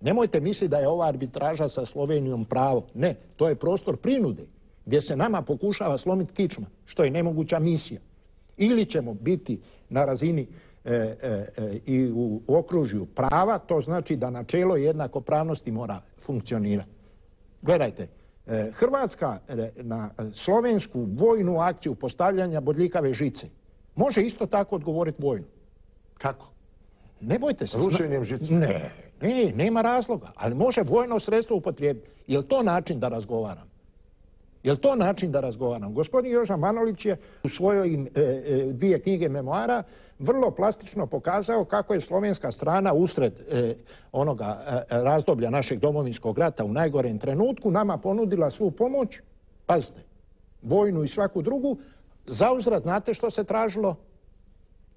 Nemojte misliti da je ova arbitraža sa Slovenijom pravo. Ne, to je prostor prinude, gdje se nama pokušava slomiti kičma, što je nemoguća misija. Ili ćemo biti na razini E, e, e, i u okružju prava, to znači da načelo jednakopravnosti mora funkcionirati. Gledajte, e, Hrvatska e, na slovensku vojnu akciju postavljanja bodljikave žice može isto tako odgovoriti vojnu. Kako? Ne bojte se. Rušenjem žice? Ne, ne, nema razloga, ali može vojno sredstvo upotrijebiti. Je li to način da razgovaram? Je li to način da razgovaram? Gospodin Joža Manolić je u svojoj e, e, dvije knjige memoara vrlo plastično pokazao kako je slovenska strana usred e, onoga e, razdoblja našeg domovinskog rata u najgorem trenutku nama ponudila svu pomoć, pazite, vojnu i svaku drugu, zauzvrat znate što se tražilo?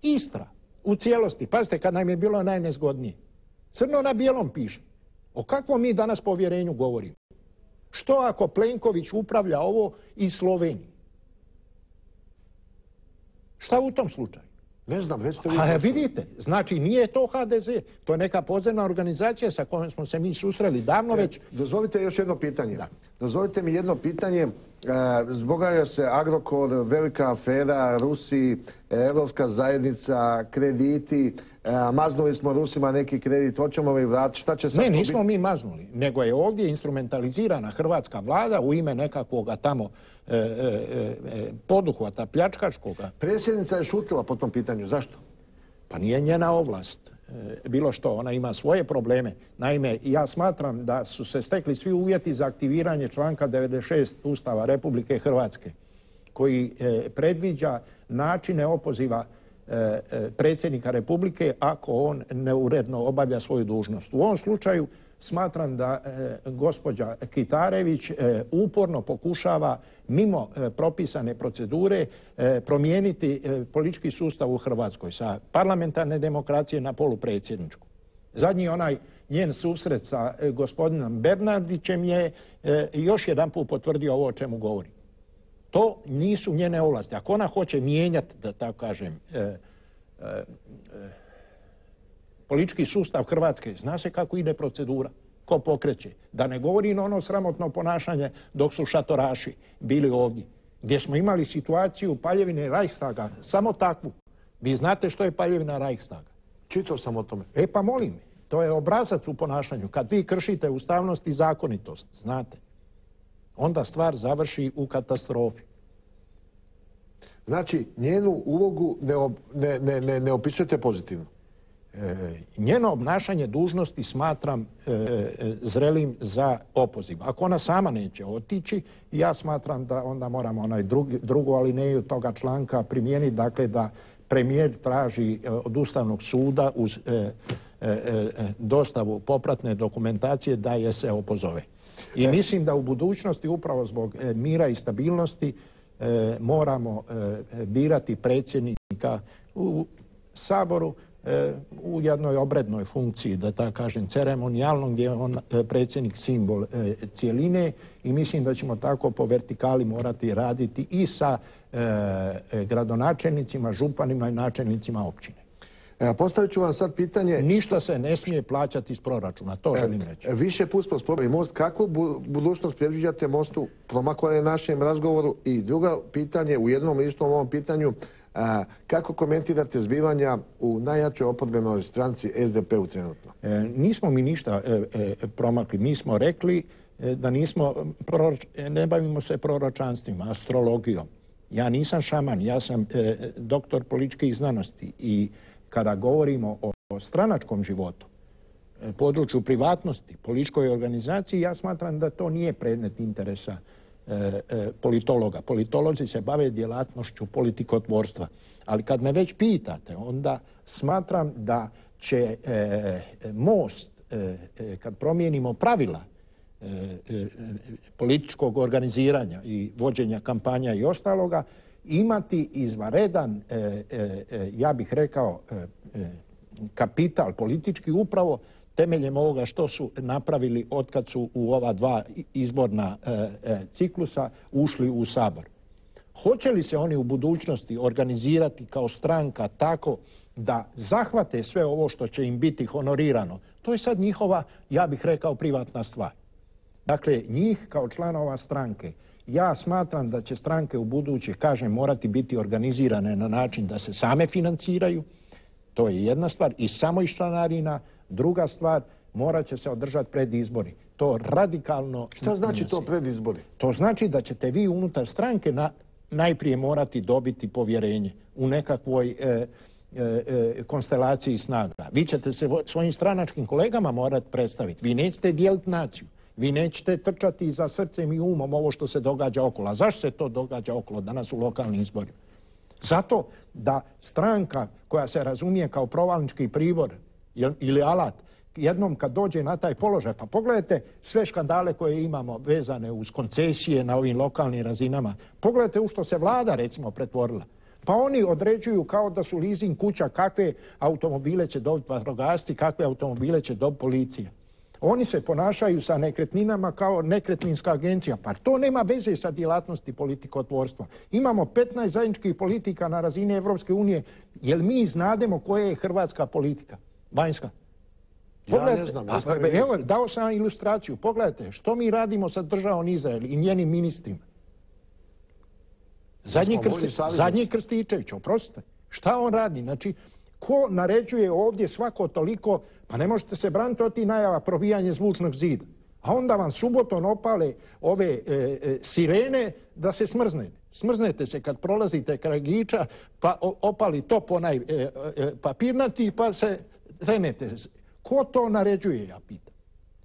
Istra, u cijelosti. Pazite, kad nam je bilo najnezgodnije. Crno na bijelom piše. O kakvom mi danas povjerenju govorimo? Što ako Plenković upravlja ovo iz Slovenije? Šta u tom slučaju? Ne znam, recite vi. A vidite, znači nije to H D Z, to je neka podzemna organizacija sa kojom smo se mi susreli davno već. Dozvolite još jedno pitanje. Da. Dozvolite mi jedno pitanje. Zbogaja se Agrokor, velika afera, Rusi, Evropska zajednica, krediti. Maznuli smo Rusima neki kredit, hoćemo li vratiti, šta će sad Ne, to nismo biti? mi maznuli, nego je ovdje instrumentalizirana hrvatska vlada u ime nekakvoga tamo e, e, e, poduhvata pljačkaškoga. Predsjednica je šutila po tom pitanju, zašto? Pa nije njena ovlast. E, bilo što, ona ima svoje probleme. Naime, ja smatram da su se stekli svi uvjeti za aktiviranje članka devedeset šest Ustava Republike Hrvatske, koji e, predviđa načine opoziva predsjednika Republike ako on neuredno obavlja svoju dužnost. U ovom slučaju smatram da e, gospođa Kitarević e, uporno pokušava mimo e, propisane procedure e, promijeniti e, politički sustav u Hrvatskoj sa parlamentarne demokracije na polupredsjedničku. Zadnji onaj njen susret sa e, gospodinom Bernardićem je e, još jedan put potvrdio ovo o čemu govori. To nisu njene ovlasti. Ako ona hoće mijenjati, da tako kažem, e, e, e, politički sustav Hrvatske, zna se kako ide procedura, ko pokreće. Da ne govori na ono sramotno ponašanje dok su šatoraši bili ovdje. gdje smo imali situaciju paljevine Reichstaga, samo takvu. Vi znate što je paljevina Reichstaga? Čitao sam o tome. E pa molim, to je obrazac u ponašanju. Kad vi kršite ustavnost i zakonitost, znate, onda stvar završi u katastrofi. Znači, njenu ulogu ne, ob, ne, ne, ne, ne opisujete pozitivno? E, njeno obnašanje dužnosti smatram e, e, zrelim za opoziv. Ako ona sama neće otići, ja smatram da onda moramo onaj drugi, drugu alineju toga članka primijeniti, dakle da premijer traži e, od Ustavnog suda uz e, e, e, dostavu popratne dokumentacije da je se opozove. I mislim da u budućnosti upravo zbog e, mira i stabilnosti e, moramo e, birati predsjednika u Saboru e, u jednoj obrednoj funkciji, da tako kažem, ceremonijalnom, gdje je on e, predsjednik simbol e, cijeline i mislim da ćemo tako po vertikali morati raditi i sa e, e, gradonačelnicima, županima i načelnicima općine. E, postavit ću vam sad pitanje... Ništa se ne smije plaćati iz proračuna, to želim reći. E, više put smo spomenuli most. Kakvu bu, budućnost predviđate mostu? Promaklo je našem razgovoru. I drugo pitanje, u jednom istom ovom pitanju, a, kako komentirate zbivanja u najjačoj oporbenoj stranci S D P-u trenutno? E, nismo mi ništa e, e, promakli. Mi smo rekli e, da nismo, proroč, ne bavimo se proročanstvima, astrologijom. Ja nisam šaman, ja sam e, doktor političkih znanosti i kada govorimo o, o stranačkom životu, e, području privatnosti, političkoj organizaciji, ja smatram da to nije predmet interesa e, e, politologa. Politolozi se bave djelatnošću politikotvorstva. Ali kad me već pitate, onda smatram da će e, most, e, e, kad promijenimo pravila e, e, političkog organiziranja i vođenja kampanja i ostaloga, imati izvanredan, e, e, ja bih rekao, e, e, kapital politički upravo temeljem ovoga što su napravili otkad su u ova dva izborna e, e, ciklusa ušli u Sabor. Hoće li se oni u budućnosti organizirati kao stranka tako da zahvate sve ovo što će im biti honorirano? To je sad njihova, ja bih rekao, privatna stvar. Dakle, njih kao članova stranke, ja smatram da će stranke u buduće, kažem, morati biti organizirane na način da se same financiraju. To je jedna stvar. I samo iz članarina. Druga stvar, morat će se održati pred izbori. To radikalno... Šta znači to pred izbori? To znači da ćete vi unutar stranke na, najprije morati dobiti povjerenje u nekakvoj e, e, e, konstelaciji snaga. Vi ćete se svojim stranačkim kolegama morati predstaviti. Vi nećete dijeliti naciju. Vi nećete trčati za srcem i umom ovo što se događa okolo. A zašto se to događa okolo danas u lokalnim izborima? Zato da stranka koja se razumije kao provalnički pribor ili alat, jednom kad dođe na taj položaj, pa pogledajte sve škandale koje imamo vezane uz koncesije na ovim lokalnim razinama. Pogledajte u što se vlada, recimo, pretvorila. Pa oni određuju kao da su leasing kuća kakve automobile će dobiti vatrogasci, kakve automobile će dobiti policija. Oni se ponašaju sa nekretninama kao nekretninska agencija. Pa to nema veze sa djelatnosti politikotvorstva. Imamo petnaest zajedničkih politika na razini Evropske unije. Jel mi znademo koja je hrvatska politika? Vanjska. Ja ne znam. Pa, evo, dao sam ilustraciju. Pogledajte, što mi radimo sa državom Izrael i njenim ministrima? Zadnji, krsti, zadnji Krstičević, oprostite. Šta on radi? Znači, ko naređuje ovdje svako toliko, pa ne možete se braniti od tih najava probijanje zvučnog zida. A onda vam subotom opale ove e, e, sirene da se smrznete. Smrznete se kad prolazite kraj Giča, pa opali top onaj e, e, papirnati, pa se trenete. Ko to naređuje, ja pitam?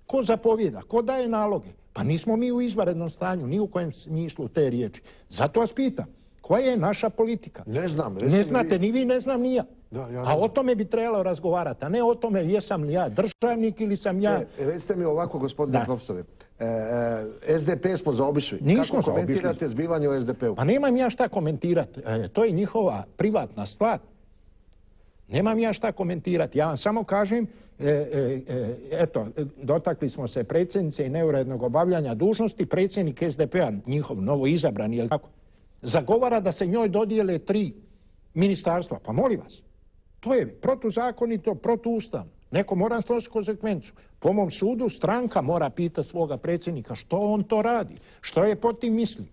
Ko zapovjeda? Ko daje naloge? Pa nismo mi u izvanrednom stanju, ni u kojem smislu te riječi. Zato vas pitam, koja je naša politika? Ne znam. Ne znate ni vi, ne znam ni ja. Da, ja a o tome bi trebalo razgovarati, a ne o tome jesam li ja državnik ili sam ja... E, recite mi ovako, gospodine da. profesore, e, e, S D P smo zaobišli. Nismo Kako komentirate zbivanje u S D P-u? Pa nemam ja šta komentirati. E, to je njihova privatna stvar. Nemam ja šta komentirati. Ja vam samo kažem, e, e, e, eto, dotakli smo se predsjednice i neurednog obavljanja dužnosti. Predsjednik S D P-a, njihov novo izabrani, je li tako, zagovara da se njoj dodijele tri ministarstva. Pa molim vas. To je protuzakonito, protuustavno. Neko mora snositi konsekvencu. Po mom sudu stranka mora pitati svoga predsjednika što on to radi, što je pod tim mislio.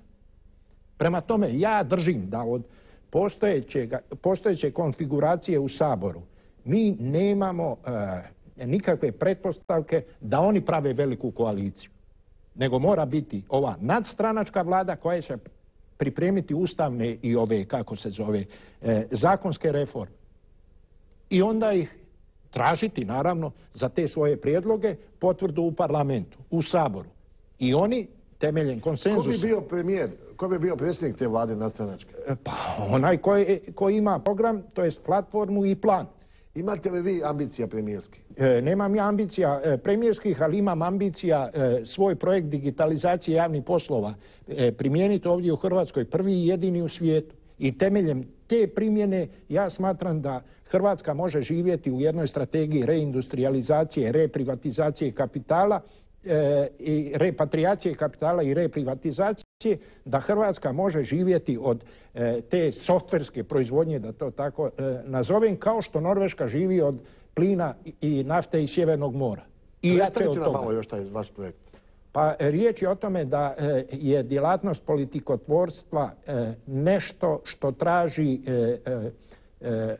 Prema tome, ja držim da od postojeće konfiguracije u Saboru mi nemamo e, nikakve pretpostavke da oni prave veliku koaliciju. Nego mora biti ova nadstranačka vlada koja će pripremiti ustavne i ove, kako se zove, e, zakonske reforme. I onda ih tražiti, naravno, za te svoje prijedloge potvrdu u parlamentu, u Saboru. I oni temeljem konsenzusa... Ko bi bio premijer, ko bi bio predsjednik te vlade nadstranačke? Pa onaj koji, koji ima program, to jest platformu i plan. Imate li vi ambicija premijerskih? E, nemam ja ambicija e, premijerskih, ali imam ambicija e, svoj projekt digitalizacije javnih poslova e, primijeniti ovdje u Hrvatskoj, prvi i jedini u svijetu. I temeljem te primjene ja smatram da Hrvatska može živjeti u jednoj strategiji reindustrializacije, reprivatizacije kapitala, e, i repatriacije kapitala i reprivatizacije, da Hrvatska može živjeti od e, te softverske proizvodnje, da to tako e, nazovem, kao što Norveška živi od plina i nafte iz Sjevernog mora. I predstavite nam malo još taj vaš projekt. Pa riječ je o tome da e, je djelatnost politikotvorstva e, nešto što traži e, e, e,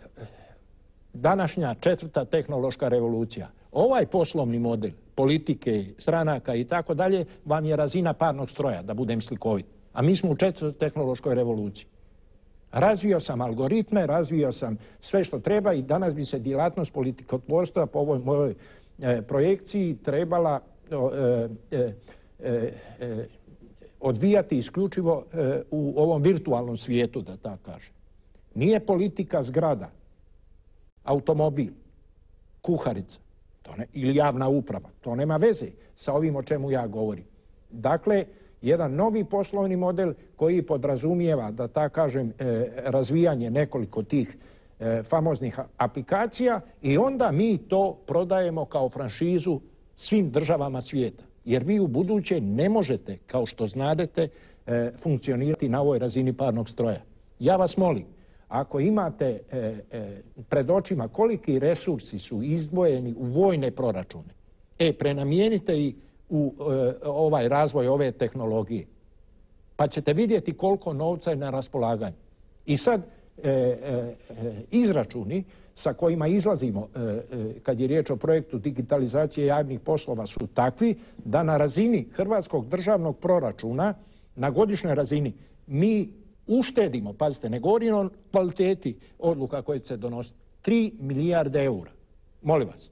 današnja četvrta tehnološka revolucija. Ovaj poslovni model politike, stranaka i tako dalje vam je razina parnog stroja, da budem slikovit. A mi smo u četvrtoj tehnološkoj revoluciji. Razvio sam algoritme, razvio sam sve što treba i danas bi se djelatnost politikotvorstva po ovoj mojoj e, projekciji trebala e, e, e, e, odvijati isključivo e, u ovom virtualnom svijetu, da tako kažem. Nije politika zgrada, automobil, kuharica to ne, ili javna uprava. To nema veze sa ovim o čemu ja govorim. Dakle, jedan novi poslovni model koji podrazumijeva, da tako kažem, e, razvijanje nekoliko tih e, famoznih aplikacija i onda mi to prodajemo kao franšizu svim državama svijeta. Jer vi u buduće ne možete, kao što znadete, e, funkcionirati na ovoj razini parnog stroja. Ja vas molim, ako imate e, e, pred očima koliki resursi su izdvojeni u vojne proračune, e, prenamijenite i u e, ovaj razvoj ove tehnologije, pa ćete vidjeti koliko novca je na raspolaganju. I sad e, e, izračuni sa kojima izlazimo e, e, kad je riječ o projektu digitalizacije javnih poslova su takvi da na razini hrvatskog državnog proračuna na godišnjoj razini mi uštedimo, pazite, ne govorim o kvaliteti odluka koje će se donositi, tri milijarde eura. Molim vas.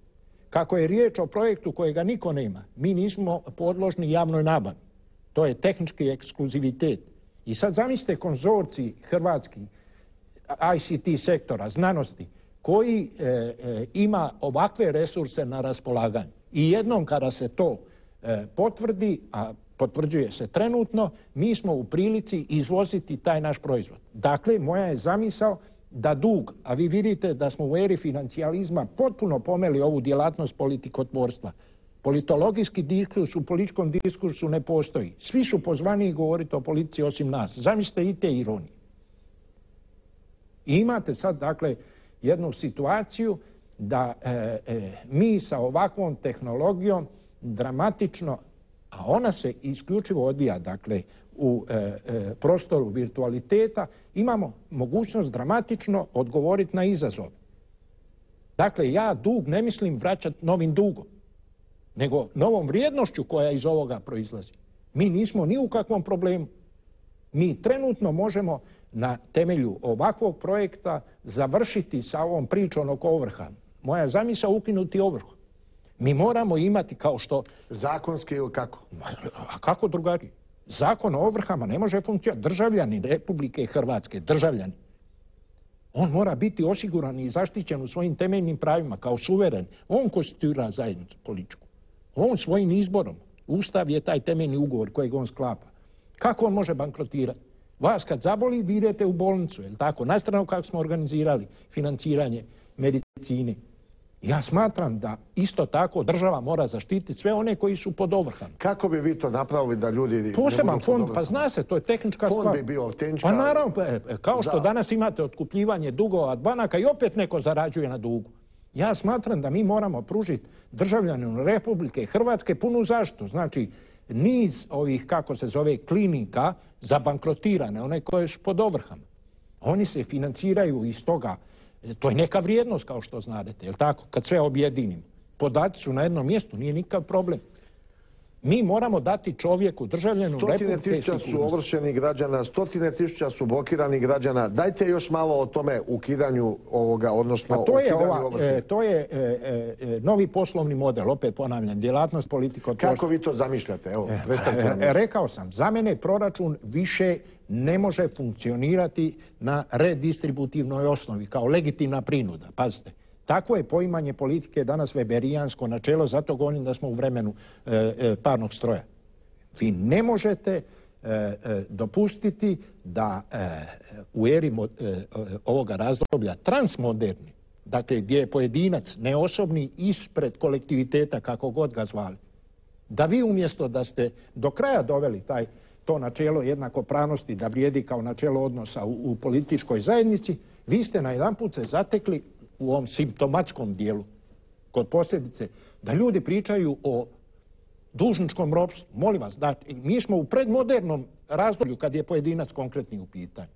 Kako je riječ o projektu kojega niko nema, mi nismo podložni javnoj nabavi. To je tehnički ekskluzivitet. I sad zamislite konzorcij hrvatski I C T sektora, znanosti, koji e, e, ima ovakve resurse na raspolaganju. I jednom kada se to e, potvrdi, a potvrđuje se trenutno, mi smo u prilici izvoziti taj naš proizvod. Dakle, moja je zamisao da dug, a vi vidite da smo u eri financijalizma potpuno pomeli ovu djelatnost politikotvorstva. Politologijski diskurs u političkom diskursu ne postoji. Svi su pozvani govoriti o politici osim nas. Zamislite i te ironije. I imate sad, dakle, jednu situaciju da e, e, mi sa ovakvom tehnologijom dramatično, a ona se isključivo odvija, dakle, u e, e, prostoru virtualiteta, imamo mogućnost dramatično odgovoriti na izazov. Dakle, ja dug ne mislim vraćati novim dugom, nego novom vrijednošću koja iz ovoga proizlazi. Mi nismo ni u kakvom problemu. Mi trenutno možemo na temelju ovakvog projekta završiti sa ovom pričom oko ovrha. Moja zamisao ukinuti ovrhu. Mi moramo imati kao što... Zakonski ili kako? A kako drugačije? Zakon o ovrhama ne može funkcionirati. Državljani Republike Hrvatske, državljani. On mora biti osiguran i zaštićen u svojim temeljnim pravima kao suveren. On konstituira zajednicu političku. On svojim izborom. Ustav je taj temeljni ugovor kojeg on sklapa. Kako on može bankrotirati? Vas kad zaboli, vi idete u bolnicu, je li tako? Na stranu kako smo organizirali financiranje medicine. Ja smatram da isto tako država mora zaštititi sve one koji su pod ovrhama. Kako bi vi to napravili da ljudi... Poseban fond, pa zna se, to je tehnička fond stvar. Fond bi bio tehnička... Pa naravno, kao što za... danas imate otkupljivanje dugova od banaka i opet neko zarađuje na dugu. Ja smatram da mi moramo pružiti državljaninu Republike Hrvatske punu zaštitu. Znači, niz ovih, kako se zove, klinika zabankrotirane, one koje su pod ovrhama. Oni se financiraju iz toga. To je neka vrijednost, kao što znate, jel tako? Kad sve objedinimo. Podaci su na jednom mjestu, nije nikakav problem. Mi moramo dati čovjeku, državljanu Republike sigurnosti. Stotine tisuća su ovršenih građana, stotine tisuća su blokiranih građana. Dajte još malo o tome ukidanju ovoga, odnosno pa to je ukidanju ova, ovrhe. e, to je e, e, novi poslovni model, opet ponavljam, djelatnost politika. Kako vi to zamišljate? Evo, predstavite nam. E, rekao sam, za mene proračun više ne može funkcionirati na redistributivnoj osnovi, kao legitimna prinuda. Pazite. Takvo je poimanje politike danas weberijansko načelo, zato govorim da smo u vremenu e, e, parnog stroja. Vi ne možete e, e, dopustiti da e, u eri mo, e, ovoga razdoblja transmoderni, dakle gdje je pojedinac neosobni ispred kolektiviteta, kako god ga zvali, da vi umjesto da ste do kraja doveli taj, to načelo jednakopravnosti da vrijedi kao načelo odnosa u, u političkoj zajednici, vi ste najedanput se zatekli u ovom simptomatskom dijelu, kod posljedice, da ljudi pričaju o dužničkom ropstvu. Molim vas, da, mi smo u predmodernom razdoblju kad je pojedinac konkretni u pitanju.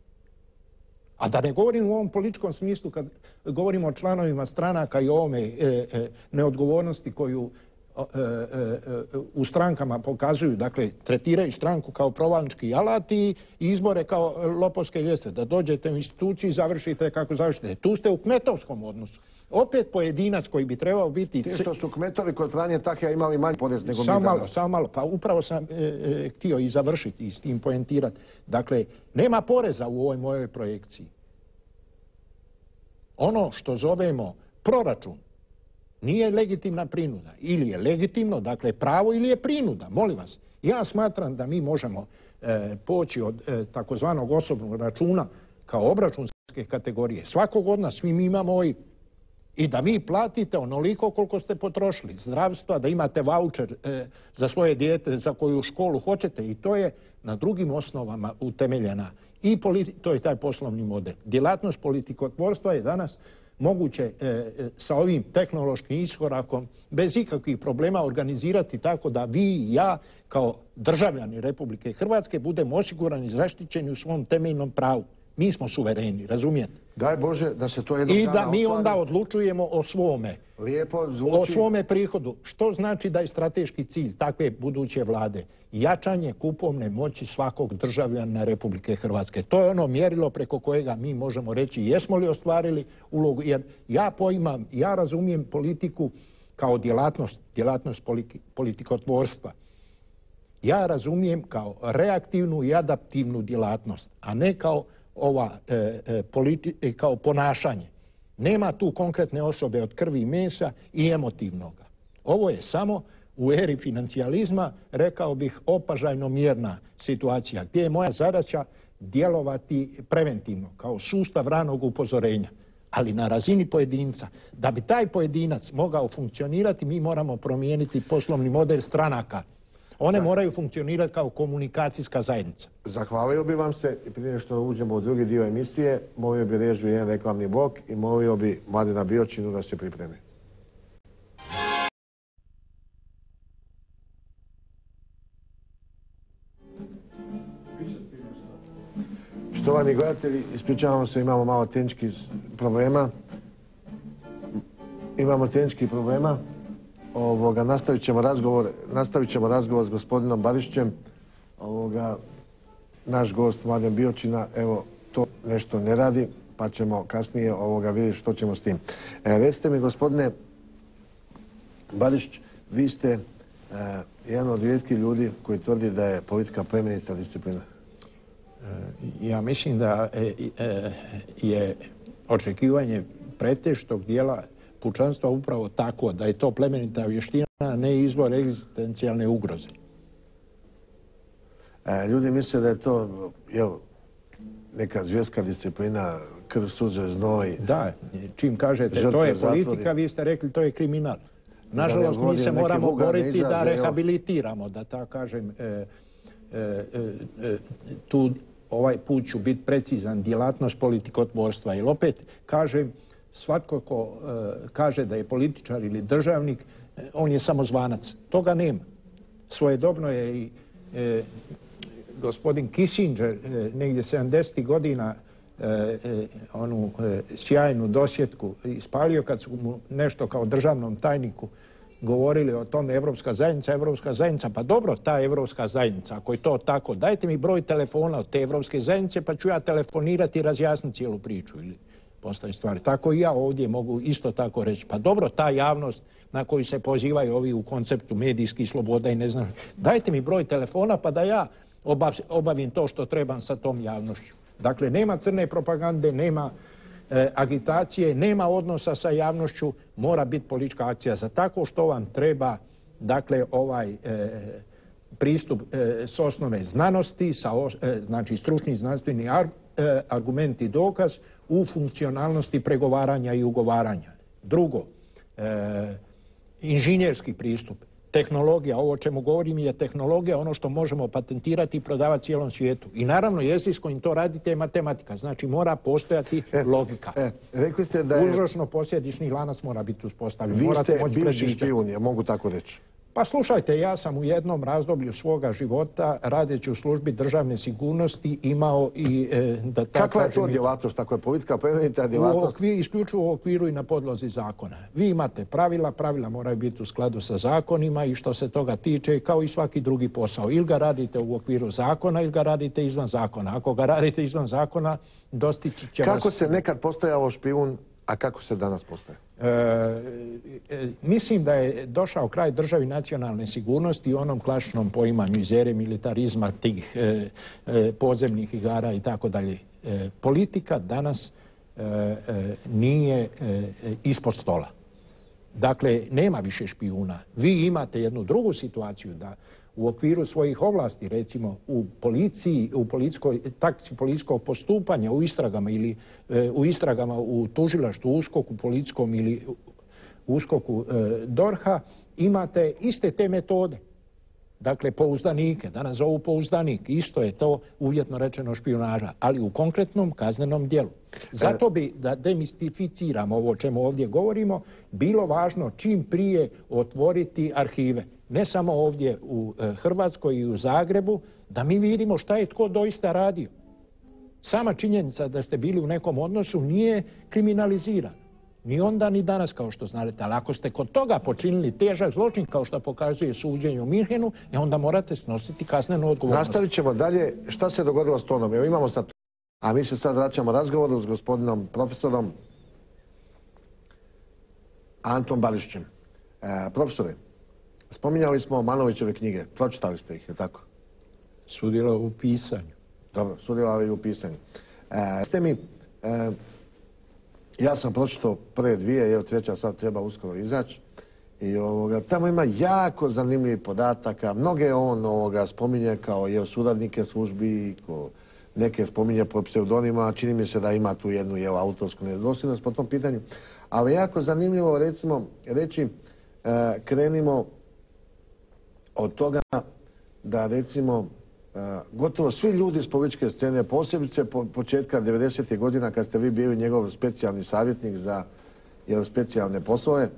A da ne govorim u ovom političkom smislu kad govorimo o članovima stranaka i o ovome e, e, neodgovornosti koju e, e, u strankama pokazuju, dakle, tretiraju stranku kao provalnički alat i izbore kao lopovske ljestve. Da dođete u instituciju i završite kako završite. Tu ste u kmetovskom odnosu. Opet pojedinac koji bi trebao biti... Ti što su kmetovi kod Franje Tahija imali manji porez nego mi danas. Samo malo, samo malo. Pa upravo sam e, e, htio i završiti i s tim poentirati. Dakle, nema poreza u ovoj mojoj projekciji. Ono što zovemo proračun nije legitimna prinuda. Ili je legitimno, dakle pravo, ili je prinuda. Molim vas, ja smatram da mi možemo e, poći od e, takozvanog osobnog računa kao obračunske kategorije. Svakog od nas, svi mi imamo O I B. I da vi platite onoliko koliko ste potrošili. Zdravstva, da imate vaučer e, za svoje dijete, za koju školu hoćete. I to je na drugim osnovama utemeljena. I politi- to je taj poslovni model. Djelatnost politikotvorstva je danas moguće e, sa ovim tehnološkim iskorakom bez ikakvih problema organizirati tako da vi i ja kao državljani Republike Hrvatske budemo osigurani i zaštićeni u svom temeljnom pravu. Mi smo suvereni, razumijete? Daj Bože da se to jednog I dana da mi ostvari. onda odlučujemo o svome. Lijepo zvuči. O svome prihodu. Što znači da je strateški cilj takve buduće vlade? Jačanje kupovne moći svakog državljana Republike Hrvatske. To je ono mjerilo preko kojega mi možemo reći jesmo li ostvarili ulogu. Jer ja poimam, ja razumijem politiku kao djelatnost, djelatnost politikotvorstva. Ja razumijem kao reaktivnu i adaptivnu djelatnost, a ne kao ova e, e, politi, kao ponašanje. Nema tu konkretne osobe od krvi i mesa i emotivnoga. Ovo je samo u eri financijalizma, rekao bih, opažajno mjerna situacija, gdje je moja zadaća djelovati preventivno, kao sustav ranog upozorenja. Ali na razini pojedinca. Da bi taj pojedinac mogao funkcionirati, mi moramo promijeniti poslovni model stranaka. One moraju funkcionirati kao komunikacijska zajednica. Zahvalio bi vam se i prije što uđemo u drugi dio emisije, molio bi režiju jedan reklamni blok i molio bi Mladena Biočinu da se pripremi. Štovani gledatelji, ispričavamo se, imamo malo tehničkih problema. Imamo tehničkih problema. Ovoga, nastavit ćemo razgovor, nastavit ćemo razgovor s gospodinom Barišićem. Ovoga, naš gost Mladen Biočina, evo, to nešto ne radi, pa ćemo kasnije ovoga vidjeti što ćemo s tim. E, recite mi, gospodine Barišić, vi ste e, jedan od rijetkih ljudi koji tvrdi da je politika plemenita disciplina. Ja mislim da e, e, je očekivanje pretežitog dijela pučanstva upravo tako da je to plemenita vještina, a ne izvor egzistencijalne ugroze. E, ljudi misle da je to jel, neka zvjerska disciplina, krv, suze, znoj. Da, čim kažete žrtve, to je politika, zatvori. Vi ste rekli to je kriminal. Nažalost, mi se moramo boriti da rehabilitiramo, da tako kažem. E, e, e, tu ovaj put ću biti precizan, djelatnost politikotvorstva. Jer opet kažem, svatko ko e, kaže da je političar ili državnik, e, on je samozvanac. Toga nema. Svojedobno je i e, gospodin Kissinger e, negdje sedamdesetih godina e, e, onu e, sjajnu dosjetku ispalio kad su mu nešto kao državnom tajniku govorili o tome Evropska zajednica, Evropska zajednica, pa dobro, ta Evropska zajednica, ako je to tako, dajte mi broj telefona od te Evropske zajednice pa ću ja telefonirati i razjasniti cijelu priču ili postaje stvari. Tako i ja ovdje mogu isto tako reći. Pa dobro, ta javnost na koju se pozivaju ovi u konceptu medijskih sloboda i ne znam, dajte mi broj telefona pa da ja obav, obavim to što trebam sa tom javnošću. Dakle, nema crne propagande, nema e, agitacije, nema odnosa sa javnošću, mora biti politička akcija. Za tako što vam treba, dakle, ovaj e, pristup e, s osnove znanosti, sa, e, znači stručni znanstveni ar, e, argument i dokaz u funkcionalnosti pregovaranja i ugovaranja. Drugo, e, inženjerski pristup, tehnologija, ovo o čemu govorim je tehnologija, ono što možemo patentirati i prodavati cijelom svijetu. I naravno jezik s kojim to radite je matematika, znači mora postojati e, logika. E, rekli ste da je... Uzročno posljedični lanac mora biti uspostavljen. Vi ste bivši špijun, ja mogu tako reći. Pa slušajte, ja sam u jednom razdoblju svoga života, radeći u službi državne sigurnosti, imao i... E, da Kakva je to djelatnost, tako je politika plemenita djelatnost? Isključivo u okviru i na podlozi zakona. Vi imate pravila, pravila moraju biti u skladu sa zakonima i što se toga tiče, kao i svaki drugi posao. Ili ga radite u okviru zakona, ili ga radite izvan zakona. Ako ga radite izvan zakona, dostići će vas... Kako se nekad postojao špijun, a kako se danas postaje? E, e, mislim da je došao kraj državi nacionalne sigurnosti i onom klasičnom poimanju iz ere militarizma, tih e, e, podzemnih igara i tako dalje. E, politika danas e, e, nije e, ispod stola. Dakle, nema više špijuna. Vi imate jednu drugu situaciju da u okviru svojih ovlasti, recimo u policiji, u policijskoj, taktici policijskog postupanja, u istragama ili e, u istragama u tužilaštvu, u uskoku policijskom ili u uskoku e, dorha, imate iste te metode. Dakle, pouzdanike, danas zovu pouzdanik, isto je to uvjetno rečeno špijunaža, ali u konkretnom kaznenom djelu. Zato bi, da demistificiramo ovo o čemu ovdje govorimo, bilo važno čim prije otvoriti arhive. Ne samo ovdje u Hrvatskoj i u Zagrebu, da mi vidimo šta je tko doista radio. Sama činjenica da ste bili u nekom odnosu nije kriminalizirana. Ni onda, ni danas, kao što znate. Ali ako ste kod toga počinili težak zločin, kao što pokazuje suđenje u Minhenu, onda morate snositi kaznenu odgovornost. Nastavit ćemo dalje. Šta se dogodilo s tonom? Evo imamo sad... A mi se sad vraćamo razgovoru s gospodinom profesorom Antom Barišićem. E, profesore, spominjali smo Manovićeve knjige. Pročitali ste ih, je tako? Sudjelovao u pisanju. Dobro, sudjelovao i u pisanju. E, ste mi... E, ja sam pročitao prve dvije, evo treća sad treba uskoro izaći. I ovoga, tamo ima jako zanimljivih podataka. Mnoge on ovoga, spominje kao je suradnike službi, ko, neke spominje po pseudonima. Čini mi se da ima tu jednu jel, autorsku nedosljednost po tom pitanju. Ali jako zanimljivo recimo reći, e, krenimo od toga da recimo e, gotovo svi ljudi iz političke scene, posebice po, početka devedesetih godina kad ste vi bili njegov specijalni savjetnik za jel, specijalne poslove,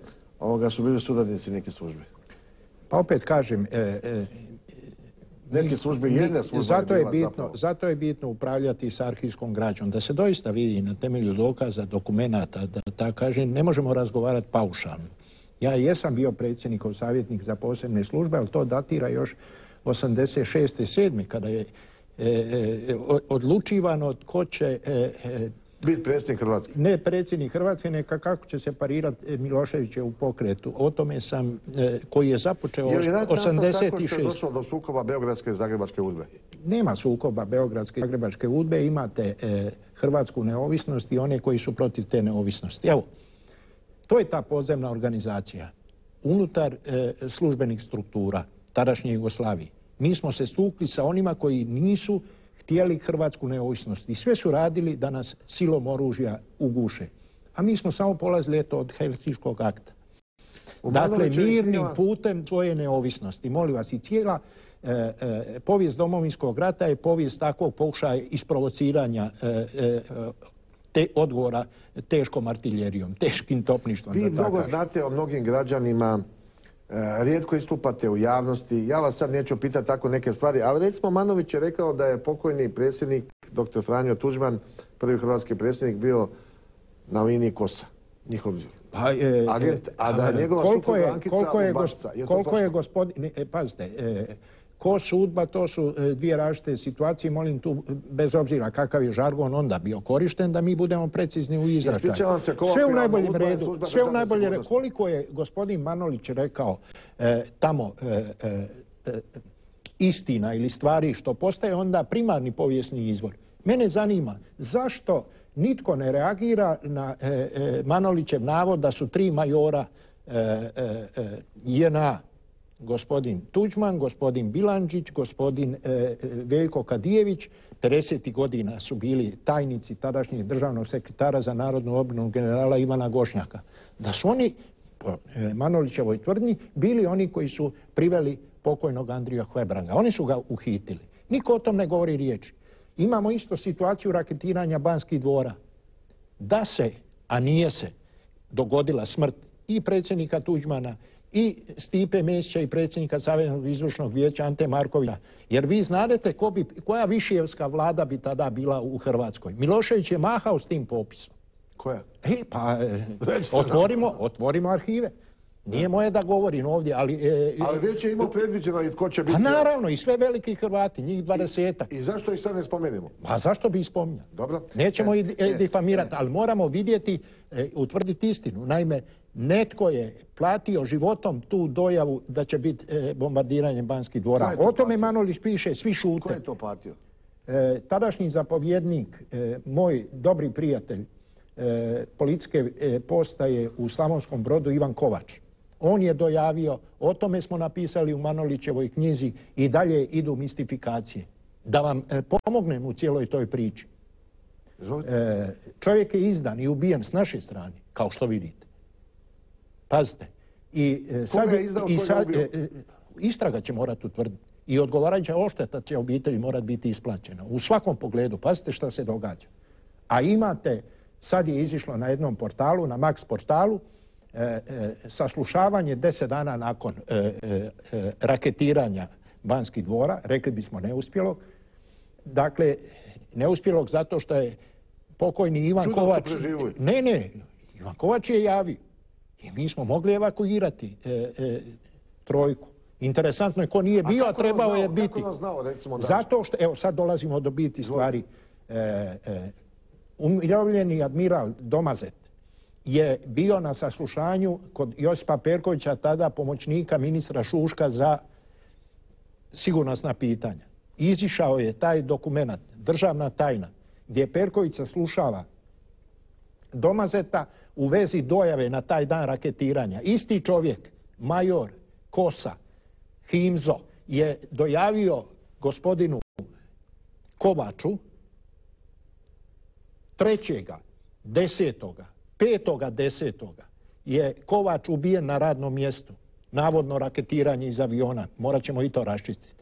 ovoga su bili suradnici neke službe. Pa opet kažem, e, e, neke službe, jedne službe zato je je bila bitno, zapravo. Zato je bitno upravljati s arhivskom građom, da se doista vidi na temelju dokaza, dokumenata, da tako kažem, ne možemo razgovarati paušalno. Ja jesam bio predsjednikov savjetnik za posebne službe, ali to datira još osamdeset šeste sedme kada je e, e, odlučivano tko će... E, e, biti predsjednik Hrvatske. Ne predsjednik Hrvatske, neka kako će se parirati Miloševiće u pokretu. O tome sam, e, koji je započeo osamdeset šeste. Je li tako što je došlo do sukoba Beogradske i Zagrebačke udbe? Nema sukoba Beogradske i Zagrebačke udbe. Imate e, hrvatsku neovisnost i one koji su protiv te neovisnosti. Evo, to je ta podzemna organizacija unutar e, službenih struktura tadašnje Jugoslavije. Mi smo se stukli sa onima koji nisu htjeli hrvatsku neovisnost i sve su radili da nas silom oružja uguše. A mi smo samo polazili eto od Helsinškog akta. Dakle, mirnim putem svoje neovisnosti. Molim vas, i cijela e, e, povijest Domovinskog rata je povijest takvog pokušaja isprovociranja e, e, te odgovora teškom artiljerijom, teškim topništvom. Vi mnogo znate o mnogim građanima rijetko istupate u javnosti. Ja vas sad neću pitati tako neke stvari, ali recimo Manolić je rekao da je pokojni predsjednik, doktor Franjo Tuđman, prvi hrvatski predsjednik, bio na liniji Kosa, njihov pa, e, agent, a da je njegova supruga Ankica Udbašica. Koliko je gospodin, e, pazite, e, Kos, Udba, to su e, dvije različite situacije, molim tu, bez obzira kakav je žargon onda bio korišten, da mi budemo precizni u izračaju. Sve u najboljem redu, sve u najboljem redu. Koliko je gospodin Manolić rekao e, tamo e, e, istina ili stvari što postaje onda primarni povijesni izvor. Mene zanima zašto nitko ne reagira na e, e, Manolićev navod da su tri majora e, e, J N A, gospodin Tuđman, gospodin Bilandžić, gospodin e, Veljko Kadijević, pedesetih godina su bili tajnici tadašnjeg državnog sekretara za narodnu obranu generala Ivana Gošnjaka. Da su oni, po e, Manolićevoj tvrdnji, bili oni koji su priveli pokojnog Andrija Hebranga. Oni su ga uhitili. Niko o tom ne govori riječi. Imamo isto situaciju raketiranja Banskih dvora. Da se, a nije se, dogodila smrt i predsjednika Tuđmana i Stipe Mesića i predsjednika Saveznog izvršnog vijeća Ante Markovića. Jer vi znadete ko bi, koja višijevska vlada bi tada bila u Hrvatskoj. Milošević je mahao s tim popisom. Koja? E, pa e, otvorimo, otvorimo arhive. Nije moje da govorim ovdje, ali... E, ali već je imao predviđeno i tko će biti... Pa naravno, i sve veliki Hrvati, njih dvadesetak. I, i zašto ih sad ne spomenemo? Pa zašto bi ih spominjali? Dobro. Nećemo e, ih e, difamirati, e, ali moramo vidjeti, e, utvrditi istinu. Naime, netko je platio životom tu dojavu da će biti e, bombardiranje Banskih dvora. O tome Manolić piše, svi šute. Ko je to platio? E, tadašnji zapovjednik, e, moj dobri prijatelj e, policijske e, postaje u Slavonskom Brodu, Ivan Kovač. On je dojavio, o tome smo napisali u Manolićevoj knjizi i dalje idu mistifikacije. Da vam e, pomognem u cijeloj toj priči. E, čovjek je izdan i ubijen s naše strane, kao što vidite. Pazite. I, e, sad, je izdao, i sad, e, e, istraga će morati utvrditi. I odgovarajuća odšteta će obitelji morati biti isplaćena. U svakom pogledu. Pazite što se događa. A imate, sad je izišlo na jednom portalu, na Max portalu, E, e, saslušavanje deset dana nakon e, e, e, raketiranja Banskih dvora, rekli bismo neuspjelog. Dakle, neuspjelog zato što je pokojni Ivan Čudno Kovač... Ne, ne, Ivan Kovač je javio. I mi smo mogli evakuirati e, e, trojku. Interesantno je ko nije bio, a, a trebao je biti. Kako znao, recimo, zato što, evo sad dolazimo do biti stvari. E, e, umirovljeni admiral Domazet je bio na saslušanju kod Josipa Perkovića, tada pomoćnika ministra Šuška za sigurnosna pitanja. Izišao je taj dokument, državna tajna, gdje Perković saslušava Domazeta u vezi dojave na taj dan raketiranja. Isti čovjek, major Kosa, Himzo, je dojavio gospodinu Kovaču trećega, desetoga, petoga desetoga je Kovač ubijen na radnom mjestu. Navodno raketiranje iz aviona. Morat ćemo i to raščistiti.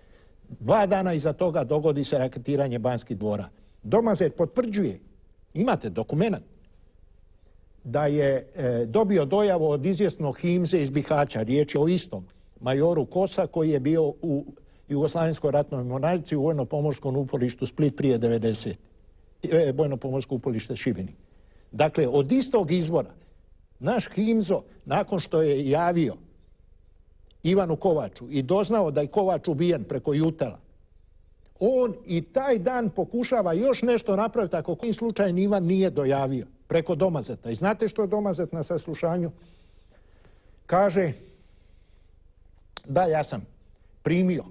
Dva dana iza toga dogodi se raketiranje Banskih dvora. Domazet potvrđuje, imate dokument, da je e, dobio dojavu od izvjesnog Himze iz Bihaća. Riječ je o istom majoru Kosa koji je bio u Jugoslavenskoj ratnoj mornarici u vojno-pomorskom uporištu Split prije devedesete. E, vojno-pomorsko uporište Šibenik. Dakle, od istog izvora naš Himzo, nakon što je javio Ivanu Kovaču i doznao da je Kovač ubijen preko Jutela, on i taj dan pokušava još nešto napraviti ako kojim slučajem Ivan nije dojavio preko Domazeta. I znate što je Domazet na saslušanju? Kaže da, ja sam primio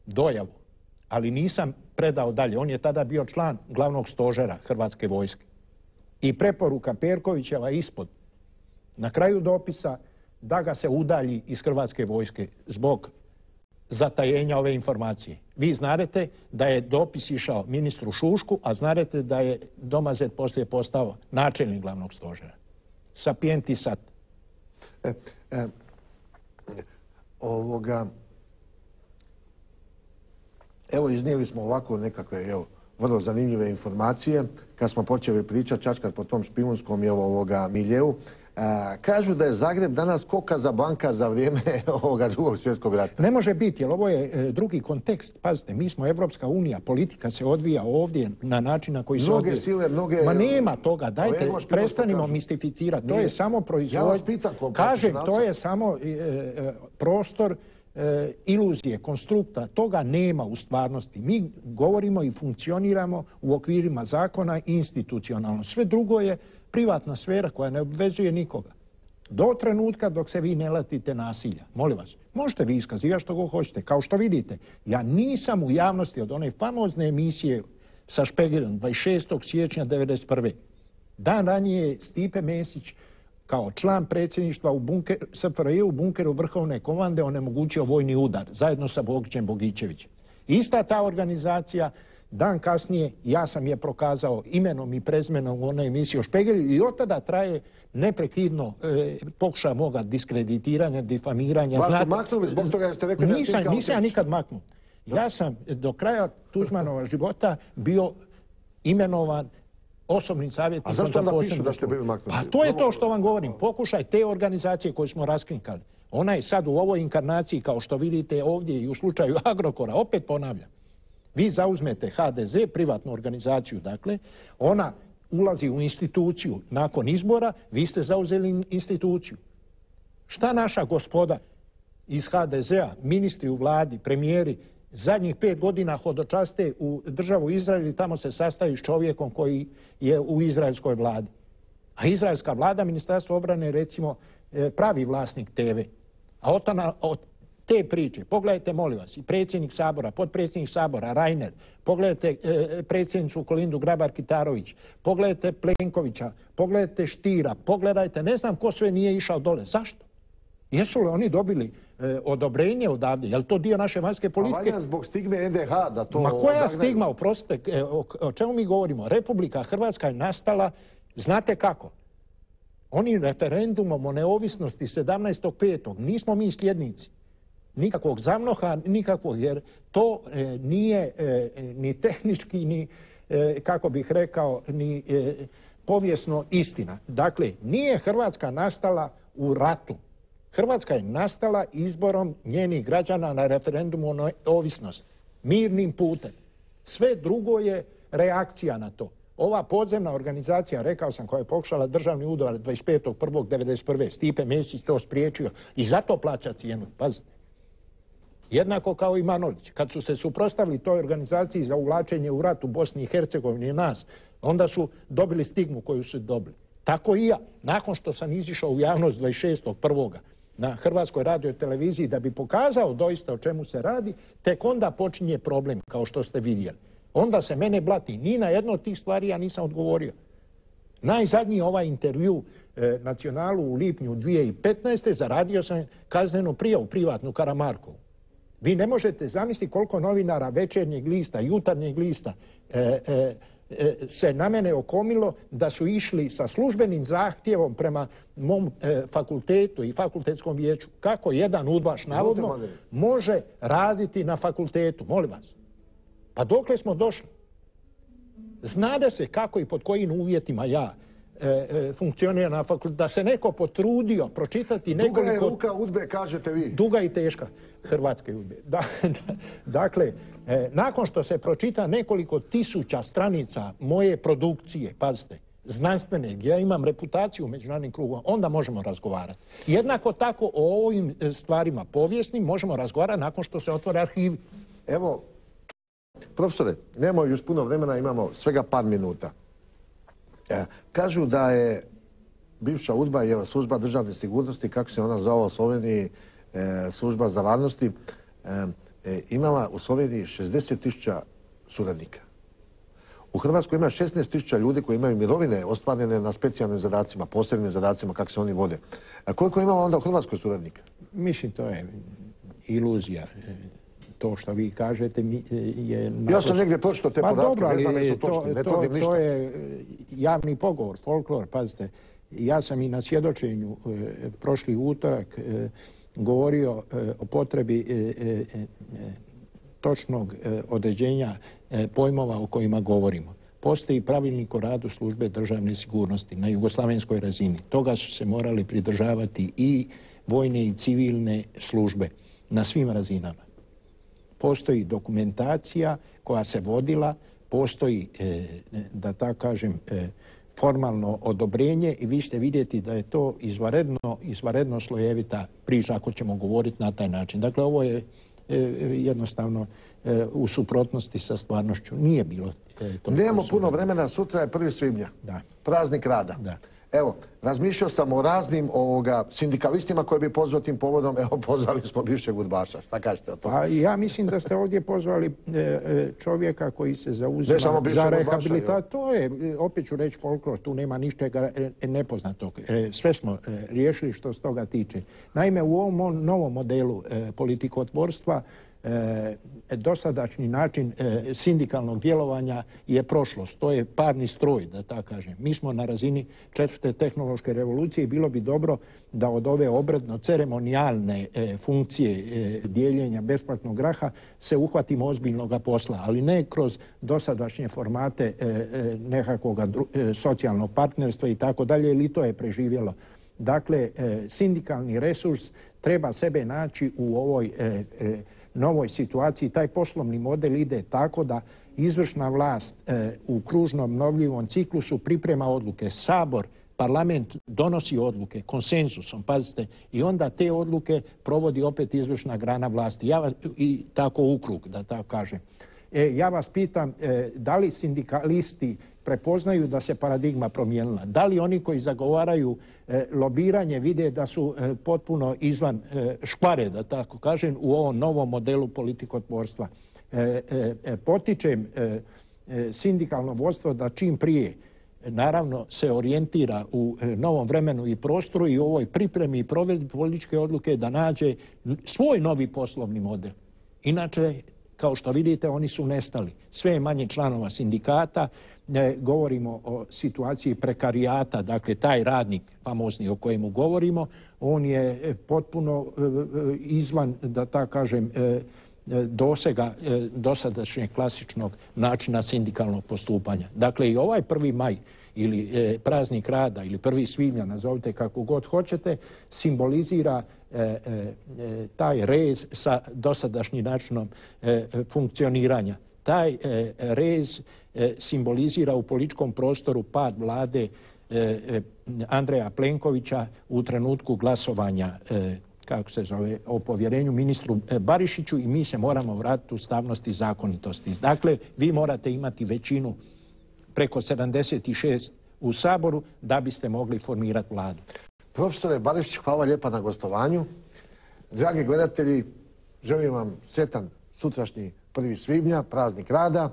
dojavu, ali nisam predao dalje. On je tada bio član glavnog stožera Hrvatske vojske. I preporuka Perkovićeva ispod, na kraju dopisa, da ga se udalji iz Hrvatske vojske zbog zatajenja ove informacije. Vi znadete da je dopis išao ministru Šušku, a znadete da je Domazet poslije postao načelnik glavnog stožera. Sapienti sat. E, e, ovoga... Evo, iznijeli smo ovako nekakve, evo, vrlo zanimljive informacije. Kad smo počeli pričati, čačkat po tom špijunskom ovoga miljeu, Kažu da je Zagreb danas ko Kazablanka za vrijeme ovoga drugog svjetskog rata. Ne može biti, jer ovo je drugi kontekst. Pazite, mi smo Evropska unija, politika se odvija ovdje na način na koji se mnoge odvija. Sile, mnoge... Ma nema toga, dajte, prestanimo mistificirati. To je samo proizvod... Ja vas pitam, kažem, to je samo e, e, prostor e, iluzije, konstrukta. Toga nema u stvarnosti. Mi govorimo i funkcioniramo u okvirima zakona institucionalno. Sve drugo je privatna sfera koja ne obvezuje nikoga. Do trenutka dok se vi ne latite nasilja. Molim vas, možete vi iskazivati što go hoćete. Kao što vidite, ja nisam u javnosti od one famozne emisije sa Špegelom dvadeset šestog siječnja devedeset prve. Dan ranije Stipe Mesić kao član predsjedništva u bunker, S F R J u bunkeru vrhovne komande onemogućio vojni udar zajedno sa Bogićem Bogićevićem. Ista ta organizacija dan kasnije ja sam je prokazao imenom i prezmenom u onoj emisiji o Špegelju i od tada traje neprekidno e, pokušaj moga diskreditiranja, difamiranja. Vas su maknuli zbog toga jer ste rekli da nisam, nisam ja nikad maknut. Ja sam do kraja Tuđmanova života bio imenovan osobnim savjetnikom. A zašto onda pišu da ste bili maknuti? Pa to je to što vam govorim. Pokušaj te organizacije koje smo raskrinkali. Ona je sad u ovoj inkarnaciji, kao što vidite ovdje i u slučaju Agrokora, opet ponavljam. Vi zauzmete H D Z, privatnu organizaciju, dakle, ona ulazi u instituciju nakon izbora, vi ste zauzeli instituciju. Šta naša gospoda iz H D Z-a, ministri u vladi, premijeri, zadnjih pet godina hodočaste u državu Izrael i tamo se sastaju s čovjekom koji je u izraelskoj vladi. A izraelska vlada, Ministarstvo obrane, recimo, pravi vlasnik T V. A od, od te priče, pogledajte, molim vas, i predsjednik Sabora, potpredsjednik Sabora, Reiner, pogledajte e, predsjednicu Kolindu Grabar-Kitarović, pogledajte Plenkovića, pogledajte Štira, pogledajte, ne znam ko sve nije išao dole. Zašto? Jesu li oni dobili e, odobrenje odavde? Je li to dio naše vanjske politike? A valja zbog stigme N D H da to... Ma koja stigma, oprostite, e, o, o čemu mi govorimo? Republika Hrvatska je nastala, znate kako? Oni referendumom o neovisnosti sedamnaestog petog nismo mi sljednici. Nikakvog zamnoha, nikakvog, jer to e, nije e, ni tehnički, ni, e, kako bih rekao, ni e, povijesno istina. Dakle, nije Hrvatska nastala u ratu. Hrvatska je nastala izborom njenih građana na referendumu o neovisnosti. Mirnim putem. Sve drugo je reakcija na to. Ova podzemna organizacija, rekao sam, koja je pokušala državni udar dvadeset petog prvog devedeset prve. Stipe Mesić to spriječio i zato plaća cijenu. Pazite. Jednako kao i Manolić. Kad su se suprotstavili toj organizaciji za uvlačenje u rat u Bosni i Hercegovini i nas, onda su dobili stigmu koju su dobili. Tako i ja. Nakon što sam izišao u javnost dvadeset šestog prvog na Hrvatskoj radioteleviziji da bi pokazao doista o čemu se radi, tek onda počinje problem, kao što ste vidjeli. Onda se mene blati. Ni na jedno od tih stvari ja nisam odgovorio. Najzadnji ovaj intervju e, Nacionalu u lipnju dvije tisuće petnaeste. zaradio sam kaznenu prijavu privatnu Karamarkovu. Vi ne možete zamisliti koliko novinara Večernjeg lista, Jutarnjeg lista e, e, e, se na mene okomilo da su išli sa službenim zahtjevom prema mom e, fakultetu i fakultetskom vijeću. Kako jedan udbaš navodno može raditi na fakultetu? Molim vas. Pa dokle smo došli? Znade se kako i pod kojim uvjetima ja e, e, funkcionira na fakultetu. Da se neko potrudio pročitati nekoliko... Duga je ruka udbe, kažete vi. Duga i teška hrvatske udbe. Da, da, dakle, e, nakon što se pročita nekoliko tisuća stranica moje produkcije, pazite, znanstvene, gdje ja imam reputaciju u međunarodnim krugom, onda možemo razgovarati. Jednako tako o ovim stvarima povijesnim možemo razgovarati nakon što se otvore arhivi. Evo, profesore, nemamo još puno vremena, imamo svega par minuta. E, kažu da je bivša udba, je služba državne sigurnosti, kako se ona zvala u Sloveniji, e, služba za varnosti, e, e, imala u Sloveniji šezdeset tisuća suradnika. U Hrvatskoj ima šesnaest tisuća ljudi koji imaju mirovine ostvarene na specijalnim zadacima, posebnim zadacima, kako se oni vode. A koliko imamo onda u Hrvatskoj suradnika? Mislim, to je iluzija. To što vi kažete je... Naprosto... Ja sam negdje pročitao te podatke, dobro, ne znam jesu to, točni, ne to, tvrdim ništa. To je javni pogovor, folklor, pazite. Ja sam i na svjedočenju e, prošli utorak e, govorio e, o potrebi e, e, e, točnog e, određenja e, pojmova o kojima govorimo. Postoji pravilnik o radu službe državne sigurnosti na jugoslavenskoj razini. Toga su se morali pridržavati i vojne i civilne službe na svim razinama. Postoji dokumentacija koja se vodila, postoji, e, da tako kažem, e, formalno odobrenje i vi ćete vidjeti da je to izvanredno, izvanredno slojevita priča ako ćemo govoriti na taj način. Dakle, ovo je e, jednostavno e, u suprotnosti sa stvarnošću. Nije bilo e, to. Nemamo puno vremena, sutra je prvi svibnja. Da. Praznik rada. Da. Evo, razmišljao sam o raznim ovoga, sindikalistima koji bi pozvao tim povodom. Evo, pozvali smo bivšeg udbaša. Šta kažete o tome? Pa ja mislim da ste ovdje pozvali e, čovjeka koji se zauzima za rehabilitaciju. To je, opet ću reći koliko, tu nema ničega e, nepoznatog. E, sve smo e, riješili što se toga tiče. Naime, u ovom novom modelu e, politikotvorstva E, dosadašnji način e, sindikalnog djelovanja je prošlost. To je parni stroj, da tako kažem. Mi smo na razini četvrte tehnološke revolucije i bilo bi dobro da od ove obredno-ceremonijalne e, funkcije e, dijeljenja besplatnog graha se uhvatimo ozbiljnog posla, ali ne kroz dosadašnje formate e, e, nekakvog e, socijalnog partnerstva i tako dalje, ili to je preživjelo. Dakle, e, sindikalni resurs treba sebe naći u ovoj e, e, novoj situaciji. Taj poslovni model ide tako da izvršna vlast e, u kružnom obnovljivom ciklusu priprema odluke. Sabor, parlament donosi odluke konsenzusom, pazite, i onda te odluke provodi opet izvršna grana vlasti. Ja vas, i tako u krug, da tako kažem. E, ja vas pitam, e, da li sindikalisti prepoznaju da se paradigma promijenila? Da li oni koji zagovaraju e, lobiranje vide da su e, potpuno izvan e, škvare, da tako kažem, u ovom novom modelu politikotvorstva? E, e, potičem e, e, sindikalno vodstvo da čim prije naravno se orijentira u e, novom vremenu i prostoru i u ovoj pripremi i provedbi političke odluke da nađe svoj novi poslovni model. Inače, kao što vidite, oni su nestali. Sve je manje članova sindikata. E, govorimo o situaciji prekarijata, dakle taj radnik famozni o kojemu govorimo, on je potpuno e, izvan, da tako kažem, e, dosega e, dosadašnjeg klasičnog načina sindikalnog postupanja. Dakle, i ovaj prvi maj ili e, praznik rada ili prvi svibnja, nazovite kako god hoćete, simbolizira e, e, taj rez sa dosadašnjim načinom e, funkcioniranja. Taj e, rez e, simbolizira u političkom prostoru pad vlade e, Andreja Plenkovića u trenutku glasovanja e, kako se zove, o povjerenju ministru Barišiću i mi se moramo vratiti u ustavnost i zakonitosti. Dakle, vi morate imati većinu preko sedamdeset šest u Saboru da biste mogli formirati vladu. Profesore Barišić, hvala lijepa na gostovanju. Dragi gledatelji, želim vam sretan sutrašnji prvi svibnja, praznik rada.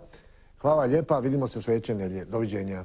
Hvala lijepa, vidimo se sljedeće nedjelje. Doviđenja.